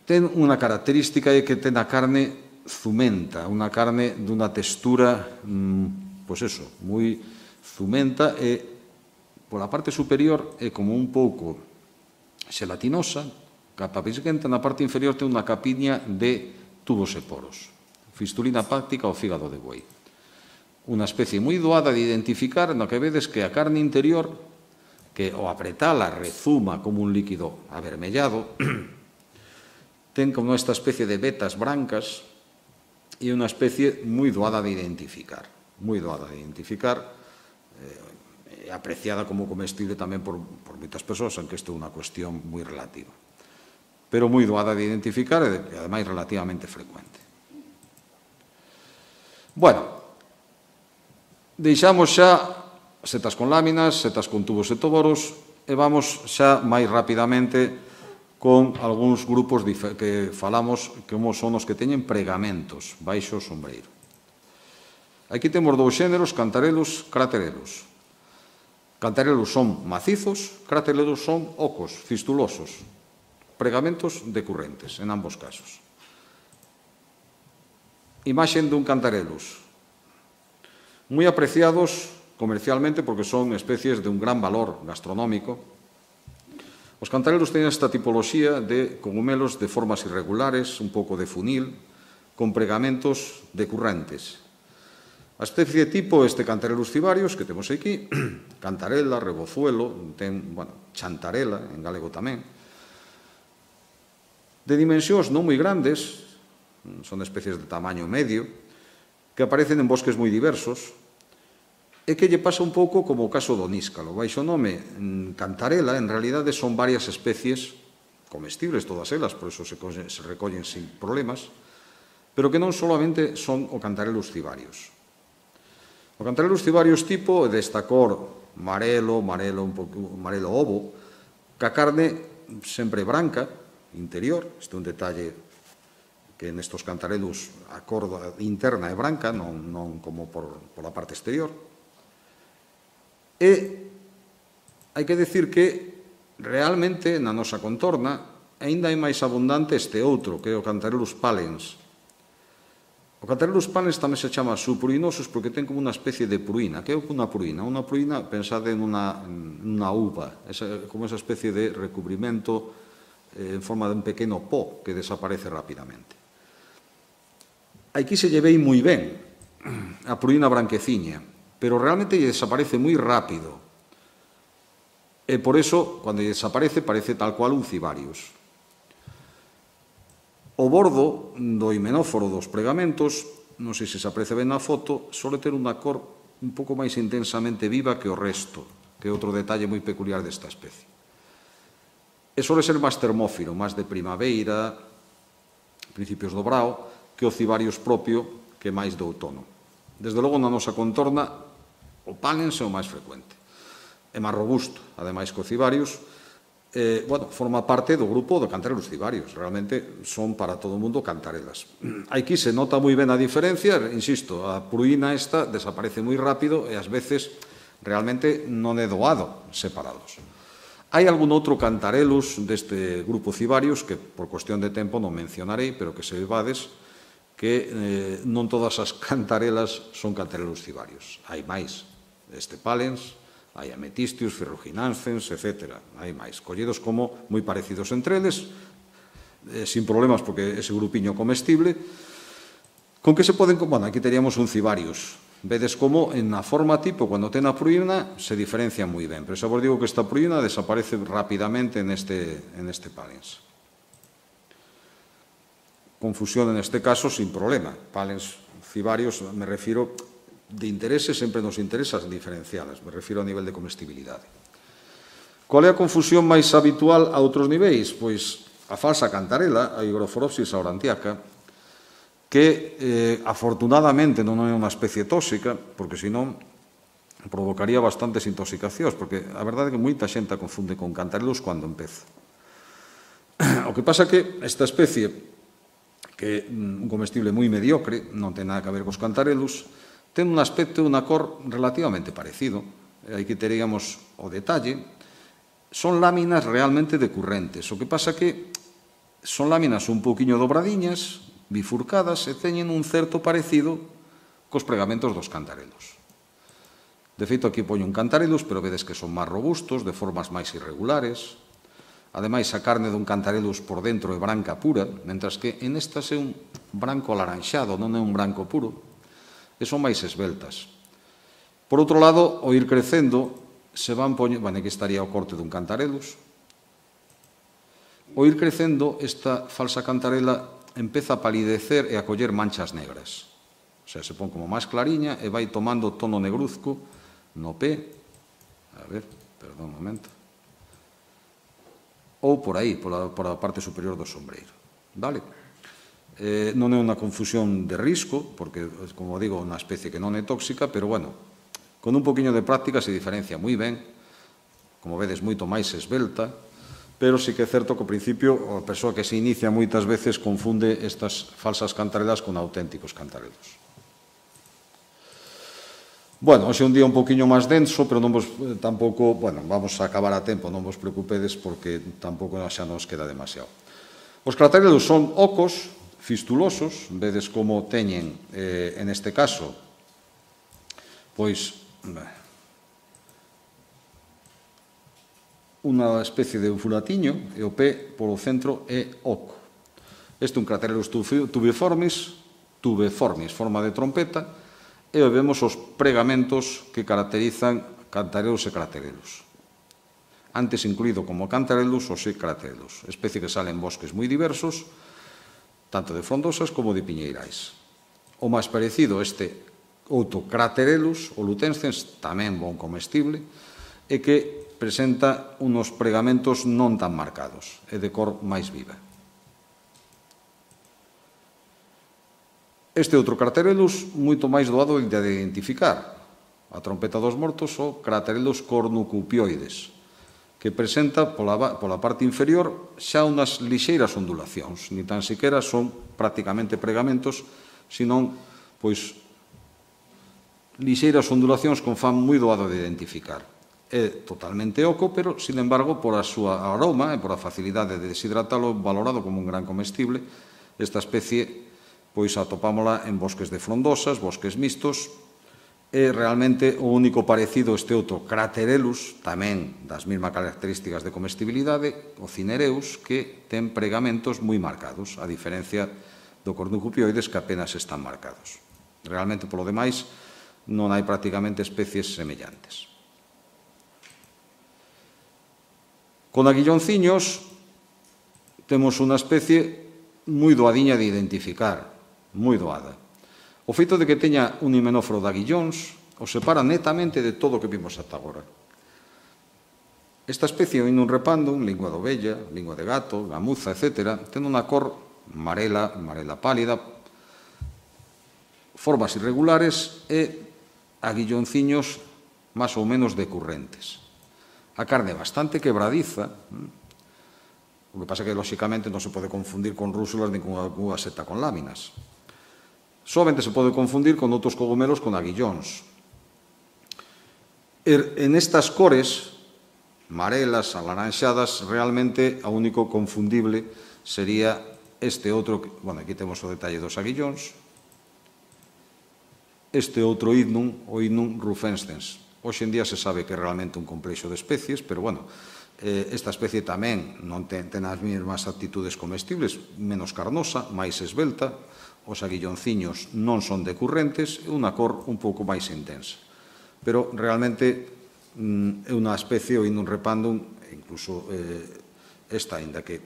ten unha característica é que ten a carne zumenta, unha carne dunha textura, pois eso, moi zumenta e pola parte superior é como un pouco xelatinosa, capa pisquenta, na parte inferior ten unha capiña de tubos e poros, fistulina páctica ou fígado de boi. Unha especie moi doada de identificar, no que vedes que a carne interior, que ao apretala rezuma como un líquido avermellado, ten como esta especie de vetas brancas e unha especie moi doada de identificar, moi doada de identificar, eh, apreciada como comestible tamén por, por moitas persoas, aunque isto é unha cuestión moi relativa. Pero moi doada de identificar e, ademais, relativamente frecuente. Bueno, deixamos xa setas con láminas, setas con tubos e toboros, e vamos xa máis rapidamente con algúns grupos que falamos como son os que teñen pregamentos baixo o sombreiro. Aquí temos dous xéneros, cantarelos, craterelos. Cantarelos son macizos, craterelos son ocos, fistulosos, pregamentos decurrentes, en ambos casos. Imaxen dun cantarelos, moi apreciados comercialmente porque son especies de un gran valor gastronómico. Os cantarelos teñen esta tipoloxía de cogumelos de formas irregulares, un pouco de funil, con pregamentos decurrentes. A especie tipo este Cantarellus cibarius que temos aquí, cantarela, rebozuelo, ten, bueno, chantarela, en galego tamén, de dimensións non moi grandes, son especies de tamaño medio, que aparecen en bosques moi diversos, e que lle pasa un pouco como o caso do níscalo. Baixo nome cantarela, en realidade son varias especies comestibles, todas elas, por iso se recollen sin problemas, pero que non solamente son o Cantarellus cibarius. O Cantarellus cibarius tipo é desta cor marelo, marelo, un pouco, marelo ovo, ca carne sempre branca, interior, este é un detalle que nestos cantarellus a cor interna é branca, non, non como por, por a parte exterior. E hai que decir que realmente na nosa contorna aínda é máis abundante este outro, que é o Cantarellus pallens. O O Cantarellus palens tamén se chama subpruinosos porque ten como unha especie de pruina. Que é unha pruina? Unha pruina, pensade en unha, unha uva, esa, como esa especie de recubrimento eh, en forma de un pequeno pó que desaparece rapidamente. Aquí se lle vei moi ben a pruina branqueciña, pero realmente lle desaparece moi rápido. E por eso, cando lle desaparece, parece tal cual un cibarius. O bordo do himenóforo dos pregamentos, non sei se se aprecia ben na foto, sole ter unha cor un pouco máis intensamente viva que o resto, que é outro detalle moi peculiar desta especie. E sole ser máis termófilo, máis de primavera, principios do brao, que o cibarius propio, que é máis do outono. Desde logo, na nosa contorna, o palens é o máis frecuente. É máis robusto, ademais que o cibarius, eh, bueno, forma parte do grupo de Cantarellus cibarius. Realmente son para todo o mundo cantarelas. Aquí se nota moi ben a diferencia, insisto, a pruína esta desaparece moi rápido e ás veces realmente non é doado separados. Hai algún outro Cantarellus deste grupo cibarius que por cuestión de tempo non mencionarei, pero que se vades que eh, non todas as cantarelas son Cantarellus cibarius. Hai máis. Este palens, hai ametistius, ferruginancens, etcétera. Hai máis. Collidos como moi parecidos entre eles, eh, sin problemas porque ese grupiño comestible. Con que se poden... Bueno, aquí teríamos un cibarius. Vedes como en a forma tipo, cando ten a pruína, se diferencia moi ben. Pero xa vos digo que esta pruína desaparece rapidamente neste, en este palens. Confusión en este caso sin problema. Palens cibarius, me refiro... De interese sempre nos interesa diferencialas, me refiro a nivel de comestibilidade. Qual é a confusión máis habitual a outros niveis? Pois a falsa cantarela, a Hygrophorhopsis aurantiaca, que eh, afortunadamente non é unha especie tóxica, porque senón provocaría bastantes intoxicacións, porque a verdade é que moita xente a confunde con Cantarellus cando empeza. O que pasa é que esta especie, que é un comestible moi mediocre, non ten nada que ver cos Cantarellus, ten un aspecto e unha cor relativamente parecido. Aquí teríamos o detalle. Son láminas realmente decurrentes. O que pasa que son láminas un pouquiño dobradiñas, bifurcadas, e teñen un certo parecido cos pregamentos dos Cantarellus. De feito, aquí poño un Cantarellus, pero vedes que son máis robustos, de formas máis irregulares. Ademais, a carne dun Cantarellus por dentro é branca pura, mentras que en estas é un branco alaranxado, non é un branco puro. E son máis esbeltas. Por outro lado, ao ir crecendo, se van poñendo... Bueno, aquí estaría o corte dun Cantarellus. Ao ir crecendo, esta falsa cantarela empeza a palidecer e a coller manchas negras. O sea, se pon como máis clariña e vai tomando tono negruzco no pé. A ver, perdón un momento. Ou por aí, por a parte superior do sombreiro. Vale? Eh, non é unha confusión de risco, porque, como digo, é unha especie que non é tóxica, pero, bueno, con un poquinho de práctica se diferencia moi ben, como vedes, moito máis esbelta, pero sí que é certo que, ao principio, a persoa que se inicia moitas veces confunde estas falsas cantarelas con auténticos cantarelos. Bueno, hoxe é un día un poquinho máis denso, pero non vos tampouco, bueno, vamos a acabar a tempo, non vos preocupedes, porque tampouco xa nos queda demasiado. Os cantarelos son ocos, fistulosos, vedes como teñen, eh, en este caso, pois, unha especie de furatiño, e o pé polo centro é oco. Este é un Cantarellus tubiformis, tubiformis, forma de trompeta, e vemos os pregamentos que caracterizan Cantarellus e Craterellus. Antes incluído como Cantarellus ou Craterellus, especie que sale en bosques moi diversos, tanto de frondosas como de piñeirais. O máis parecido este outro Craterellus, o lutescens, tamén bon comestible, e que presenta unos pregamentos non tan marcados, e de cor máis viva. Este outro Craterellus, moito máis doado de identificar, a trompeta dos mortos, o Craterellus cornucopioides, que presenta pola, pola parte inferior xa unhas lixeiras ondulacións, ni tan siquera son prácticamente pregamentos, senón, pois, lixeiras ondulacións con fan moi doado de identificar. É totalmente oco, pero, sin embargo, por a súa aroma e por a facilidade de deshidratalo, valorado como un gran comestible, esta especie pois atopámola en bosques de frondosas, bosques mixtos, e realmente o único parecido este outro Craterellus, tamén das mesmas características de comestibilidade, o Cinereus, que ten pregamentos moi marcados, a diferencia do Cornucopioides, que apenas están marcados. Realmente, polo demais, non hai prácticamente especies semellantes. Con aguillonciños temos unha especie moi doadiña de identificar, moi doada. O feito de que teña un himenóforo de aguillóns o separa netamente de todo o que vimos ata agora. Esta especie, o Inum repandum, lingua de ovella, lingua de gato, gamuza, etcétera, ten unha cor amarela, amarela pálida, formas irregulares e aguillonciños máis ou menos decurrentes. A carne é bastante quebradiza, o que pasa é que, lóxicamente, non se pode confundir con rúsulas nin con unha seta con láminas. Solamente se pode confundir con outros cogomelos con aguillóns. En estas cores, amarelas, alaranxadas, realmente o único confundible sería este outro, bueno, aquí temos o detalle dos aguillóns, este outro Hydnum, o Hydnum rufescens. Hoxe en día se sabe que é realmente un complexo de especies, pero, bueno, esta especie tamén non ten as mesmas actitudes comestibles, menos carnosa, máis esbelta, os aguillonciños non son decurrentes e unha cor un pouco máis intensa. Pero realmente é unha especie, o Inum repandum, incluso esta, ainda que,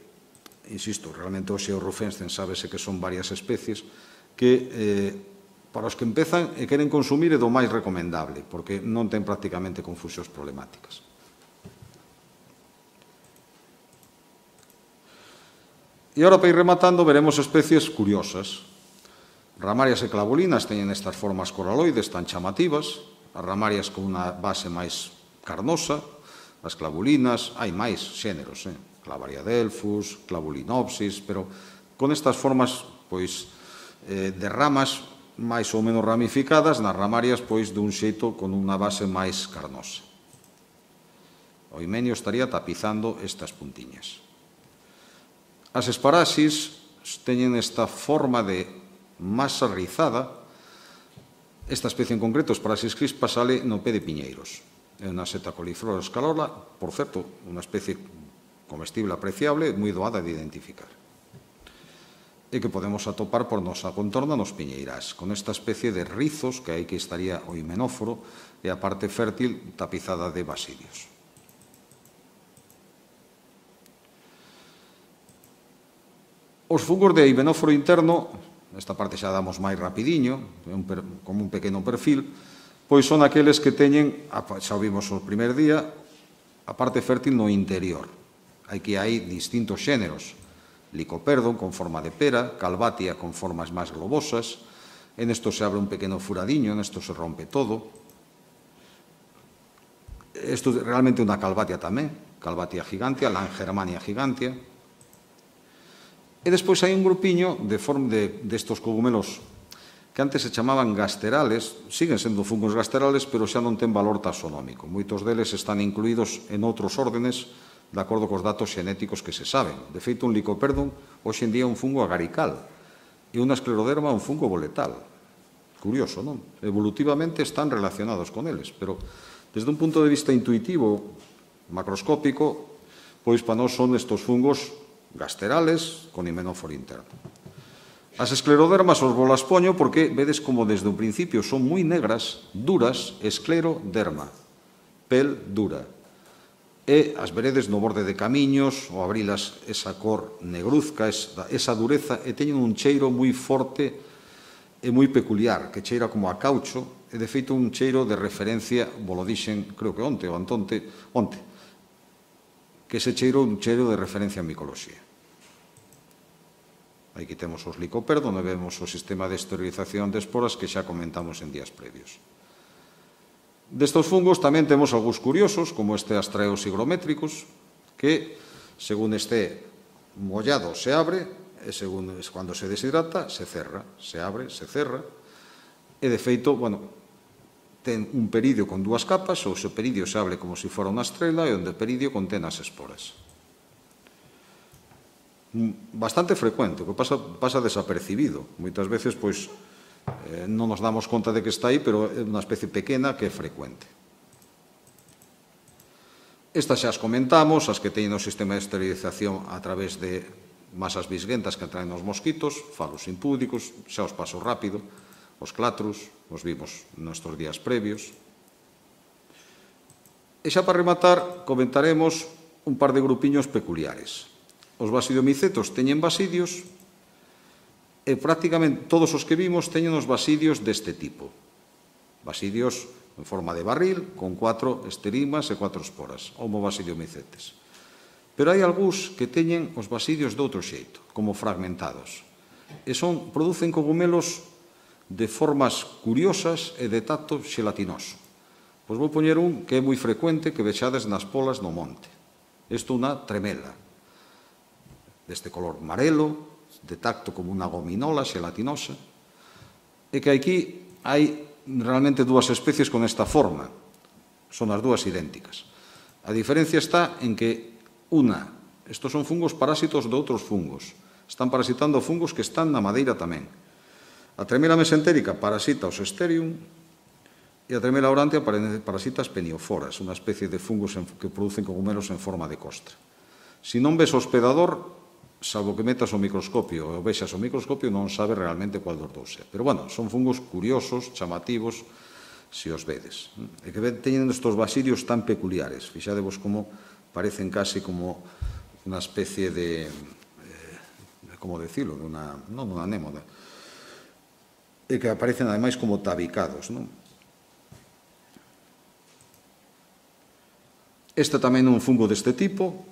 insisto, realmente o Xeo rufescens sábese que son varias especies, que para os que empezan e queren consumir é do máis recomendable, porque non ten prácticamente confusións problemáticas. E agora, para ir rematando, veremos especies curiosas. Ramarias e clavolinas teñen estas formas coraloides tan chamativas, as ramarias con unha base máis carnosa, as clavolinas, hai máis xéneros, eh? Clavariadelphus, Clavulinopsis, pero con estas formas, pois, eh, de ramas máis ou menos ramificadas, nas ramarias, pois, dun xeito con unha base máis carnosa. O himenio estaría tapizando estas puntiñas. As esparaxis teñen esta forma de masa rizada. Esta especie en concreto, Esparaxis crispa, sale no pé de piñeiros. É unha seta coliflora escalola, por certo, unha especie comestible apreciable, moi doada de identificar. E que podemos atopar por nosa contorna nos piñeirás, con esta especie de rizos, que aí que estaría o himenóforo, e a parte fértil tapizada de basidios. Os fungos de himenóforo interno, esta parte xa damos máis rapidiño, como un pequeno perfil, pois son aqueles que teñen, xa o vimos o primer día, a parte fértil no interior. Aquí hai distintos xéneros, Lycoperdon con forma de pera, Calvatia con formas máis globosas, en isto se abre un pequeno furadiño, en isto se rompe todo. Isto é realmente unha Calvatia tamén, Calvatia gigantea, Langermania gigantea. E despois hai un grupiño destos cogumelos que antes se chamaban gasterales, siguen sendo fungos gasterales, pero xa non ten valor taxonómico. Moitos deles están incluídos en outros órdenes de acordo cos datos xenéticos que se saben. De feito, un Lycoperdon hoxe en día é un fungo agarical e unha escleroderma un fungo boletal. Curioso, non? Evolutivamente están relacionados con eles, pero desde un punto de vista intuitivo, macroscópico, pois para nós son estos fungos gasterales con himenóforo interno. As esclerodermas os volas poño porque vedes como desde o principio son moi negras, duras, escleroderma, pel dura. E as veredes no borde de camiños, ou abrilas esa cor negruzca, esa dureza, e teñen un cheiro moi forte e moi peculiar, que cheira como a caucho, e de feito un cheiro de referencia, volo dixen, creo que onte ou antonte, onte, que ese cheiro é un cheiro de referencia en micoloxía. Aquí temos os Lycoperdon, e vemos o sistema de esterilización de esporas que xa comentamos en días previos. Destos fungos tamén temos algúns curiosos, como este Astraeus higrométricus, que, según este mollado, se abre, e según cando se deshidrata, se cerra, se abre, se cerra, e de feito, bueno, ten un peridio con dúas capas, ou se o peridio se abre como se fora unha estrela, e onde o peridio contén as esporas. bastante frecuente, que pasa, pasa desapercibido. Moitas veces, pois, eh, non nos damos conta de que está aí, pero é unha especie pequena que é frecuente. Estas xa as comentamos, as que teñen o sistema de esterilización a través de masas bisguentas que atraen os mosquitos, falos impúdicos, xa os paso rápido, os clatros, os vimos nestes días previos. E xa para rematar, comentaremos un par de grupiños peculiares. Os basidiomicetos teñen basidios e prácticamente todos os que vimos teñen os basidios deste tipo. Basidios en forma de barril, con cuatro esterimas e cuatro esporas, homo basidiomicetes. Pero hai algúns que teñen os basidios de outro xeito, como fragmentados. E son, producen cogumelos de formas curiosas e de tacto xelatinoso. Pois vou poñer un que é moi frecuente que vexades nas polas no monte. Isto é unha tremela, deste color marelo, de tacto como unha gominola xelatinosa, e que aquí hai realmente dúas especies con esta forma. Son as dúas idénticas. A diferencia está en que unha, estos son fungos parásitos de outros fungos. Están parasitando fungos que están na madeira tamén. A tremela mesentérica parasita os Asterium e a tremela aurantia parasita as penioforas, unha especie de fungos que producen cogumelos en forma de costra. Se non ves o hospedador, salvo que metas o microscopio ou vexas o microscopio, non sabe realmente cual dos dous é. Pero, bueno, son fungos curiosos, chamativos, se os vedes. E que teñen estes basidios tan peculiares. Fixadevos como parecen casi como unha especie de, eh, como decirlo, de una, non unha anémoda, e que aparecen ademais como tabicados, non? Este tamén é un fungo deste tipo,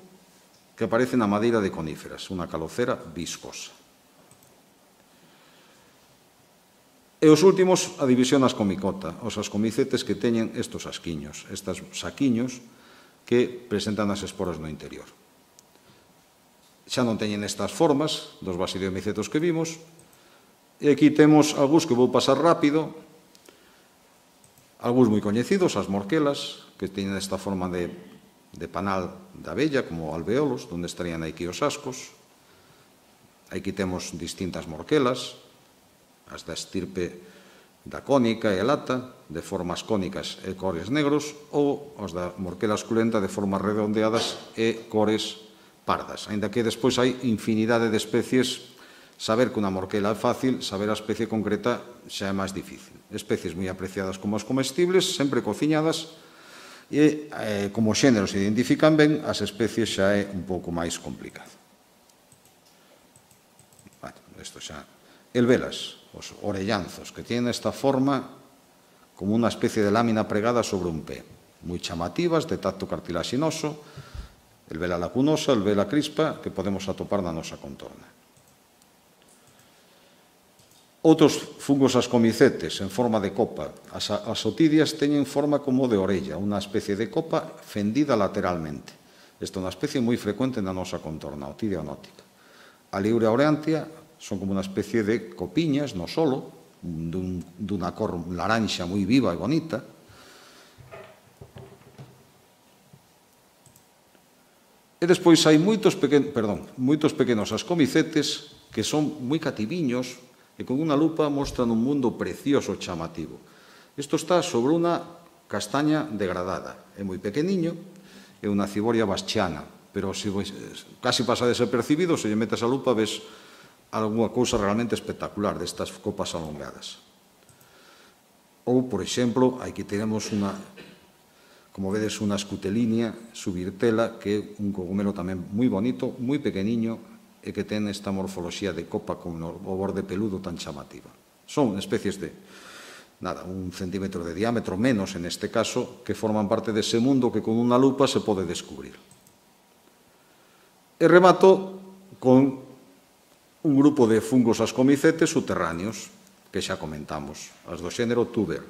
que aparece na madeira de coníferas, unha calocera viscosa. E os últimos, a división ascomicota, os ascomicetes que teñen estos asquiños, estes saquiños que presentan as esporas no interior. Xa non teñen estas formas dos basidiomicetos que vimos, e aquí temos algúns que vou pasar rápido, algúns moi coñecidos, as morquelas, que teñen esta forma de, de panal de abella, como alveolos, onde estarían aquí os ascos. Aquí temos distintas morquelas, as da estirpe da cónica e elata, de formas cónicas e cores negros, ou as da morquela esculenta de formas redondeadas e cores pardas. Ainda que despois hai infinidade de especies, saber que unha morquela é fácil, saber a especie concreta xa é máis difícil. Especies moi apreciadas como as comestibles, sempre cociñadas, e eh, como xéneros se identifican ben, as especies xa é un pouco máis complicado. Bueno, isto xa... Elvelas, os orellanzos, que tienen esta forma como unha especie de lámina pregada sobre un pé, moi chamativas, de tacto cartilaxinoso, elvela lacunosa, elvela crispa, que podemos atopar na nosa contorna. Outros fungos ascomicetes en forma de copa. As, as otidias teñen forma como de orella, unha especie de copa fendida lateralmente. Esta é unha especie moi frecuente na nosa contorna, a otidia onótica. A Liurea aurantia son como unha especie de copiñas no solo, dun, dunha cor laranxa moi viva e bonita. E despois hai moitos, pequen, perdón, moitos pequenos ascomicetes que son moi cativiños e con unha lupa mostran un mundo precioso e chamativo. Isto está sobre unha castaña degradada. É moi pequeniño, é unha ciboria baschiana, pero se casi pasa desapercibido, se lle metes a lupa ves algunha cousa realmente espectacular destas copas alongadas. Ou, por exemplo, aquí tenemos unha, como vedes, unha escutelínea subirtela, que é un cogumelo tamén moi bonito, moi pequeniño, e que ten esta morfoloxía de copa con o borde peludo tan chamativa. Son especies de, nada, un centímetro de diámetro, menos en este caso, que forman parte dese mundo que con unha lupa se pode descubrir. E remato con un grupo de fungos ascomicetes subterráneos, que xa comentamos, as do xénero tuber.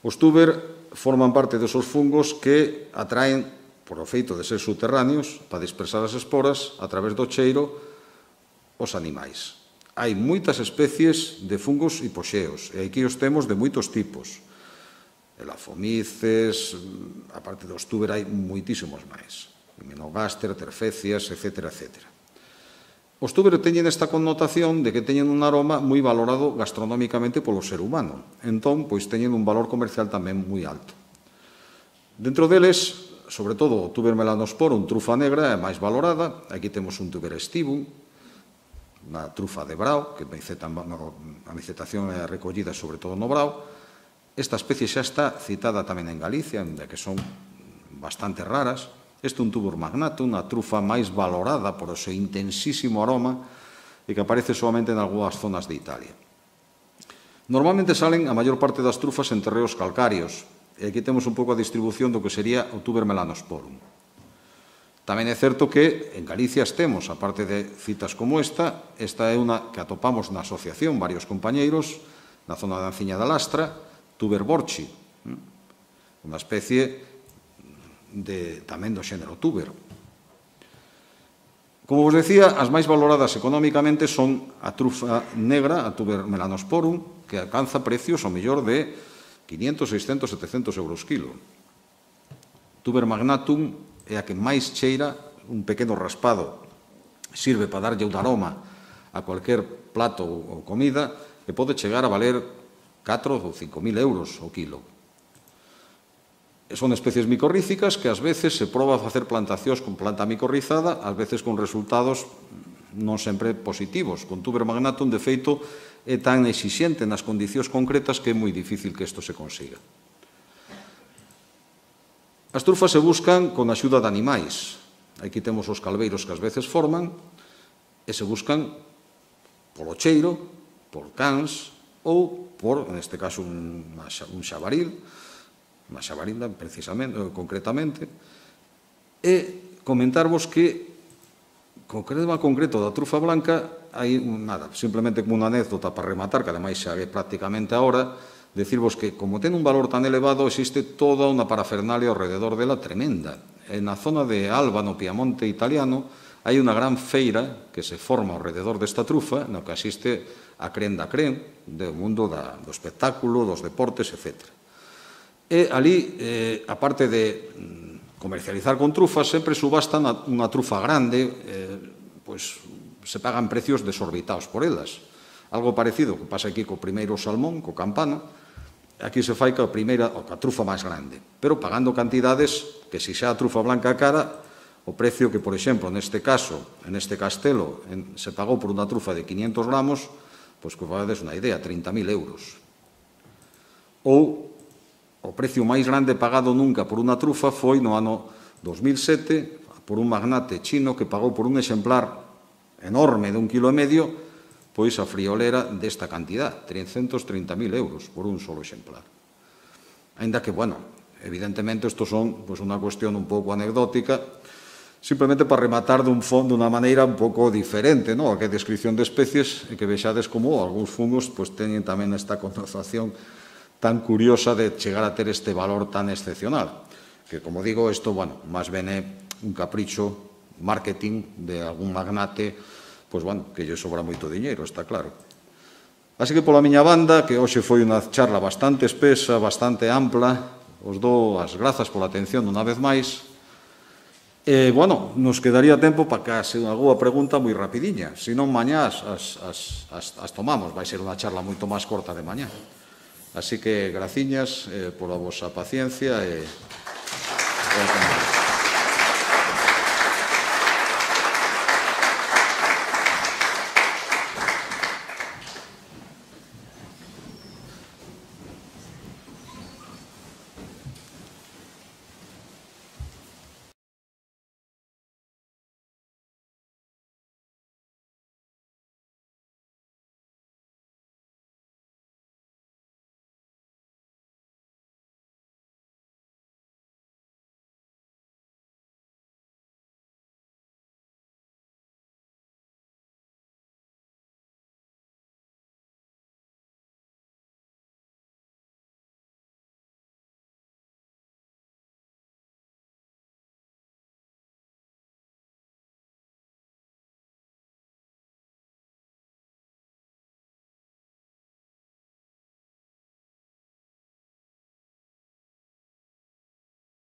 Os tuber forman parte desos fungos que atraen, por o feito de ser subterráneos, para dispersar as esporas a través do cheiro os animais. Hai moitas especies de fungos hipoxeos, e aquí os temos de moitos tipos. Elafomices, a parte dos tuber hai moitísimos máis. Himenogaster, terfecias, etcétera, etcétera. Os tuber teñen esta connotación de que teñen un aroma moi valorado gastronómicamente polo ser humano. Entón, pois teñen un valor comercial tamén moi alto. Dentro deles, sobre todo, o tuber melanosporum, trufa negra, é máis valorada. Aquí temos un tuber estivum, unha trufa de brao, que a micetación é recollida sobre todo no brao. Esta especie xa está citada tamén en Galicia, onde que son bastante raras. Este é un tuber magnatum, unha trufa máis valorada por o seu intensísimo aroma e que aparece solamente en algunhas zonas de Italia. Normalmente salen a maior parte das trufas en terreos calcarios, e aquí temos un pouco a distribución do que sería o tuber melanosporum. Tamén é certo que en Galicia temos, aparte de citas como esta, esta é unha que atopamos na asociación, varios compañeiros, na zona da Anciña da Lastra, tuber borchi, unha especie de, tamén do xénero tuber. Como vos decía, as máis valoradas económicamente son a trufa negra, a tuber melanosporum, que alcanza precios ao mellor de quinientos, seiscentos, setecentos euros kilo. Tuber magnatum é a que máis cheira, un pequeno raspado, sirve para darlle un aroma a cualquier plato ou comida e pode chegar a valer catro ou cinco mil euros o kilo. Son especies micorríficas que ás veces se proba a facer plantacións con planta micorrizada, ás veces con resultados non sempre positivos. Con tuber magnatum, de feito, é tan exixente nas condicións concretas que é moi difícil que isto se consiga. As trufas se buscan con axuda de animais. Aquí temos os calveiros que ás veces forman e se buscan polo cheiro, por cans ou por, neste caso, un xabaril, unha xabarinda, precisamente, concretamente, e comentarvos que, co tema concreto da trufa blanca, hai nada, simplemente como unha anécdota para rematar, que ademais xa é prácticamente ahora, decirvos que, como ten un valor tan elevado, existe toda unha parafernalia ao rededor dela tremenda. En a zona de Alba, no Piamonte italiano, hai unha gran feira que se forma ao rededor desta trufa, no que asiste a cren da cren, do mundo do espectáculo, dos deportes, etcétera. E ali, eh, aparte de comercializar con trufas, sempre subastan unha trufa grande, eh, pois se pagan precios desorbitados por elas. Algo parecido que pasa aquí co primeiro salmón, co campano, aquí se fai coa primeira, ou coa trufa máis grande, pero pagando cantidades que, se xa a trufa blanca cara, o precio que, por exemplo, neste caso, en este castelo, en, se pagou por unha trufa de quinientos gramos, pois que vades unha idea, trinta mil euros. Ou o precio máis grande pagado nunca por unha trufa foi no ano dos mil sete por un magnate chino que pagou por un exemplar enorme de un kilo e medio, pois a friolera desta cantidad, trescentos trinta mil euros por un solo exemplar. Ainda que, bueno, evidentemente isto son pois, unha cuestión un pouco anecdótica, simplemente para rematar dun fondo de unha maneira un pouco diferente, no? A que descripción de especies e que vexades como algúns fungos pois, teñen tamén esta connotación tan curiosa de chegar a ter este valor tan excepcional. Que, como digo, isto, bueno, máis ben é un capricho marketing de algún magnate, pois, bueno, que lle sobra moito diñeiro, está claro. Así que, pola miña banda, que hoxe foi unha charla bastante espesa, bastante ampla, os dou as grazas pola atención unha vez máis. E, bueno, nos quedaría tempo para case unha alguna pregunta moi rapidiña. Se non, mañá as, as, as, as tomamos. Vai ser unha charla moito máis corta de mañá. Así que, graciñas eh, pola vosa paciencia e... e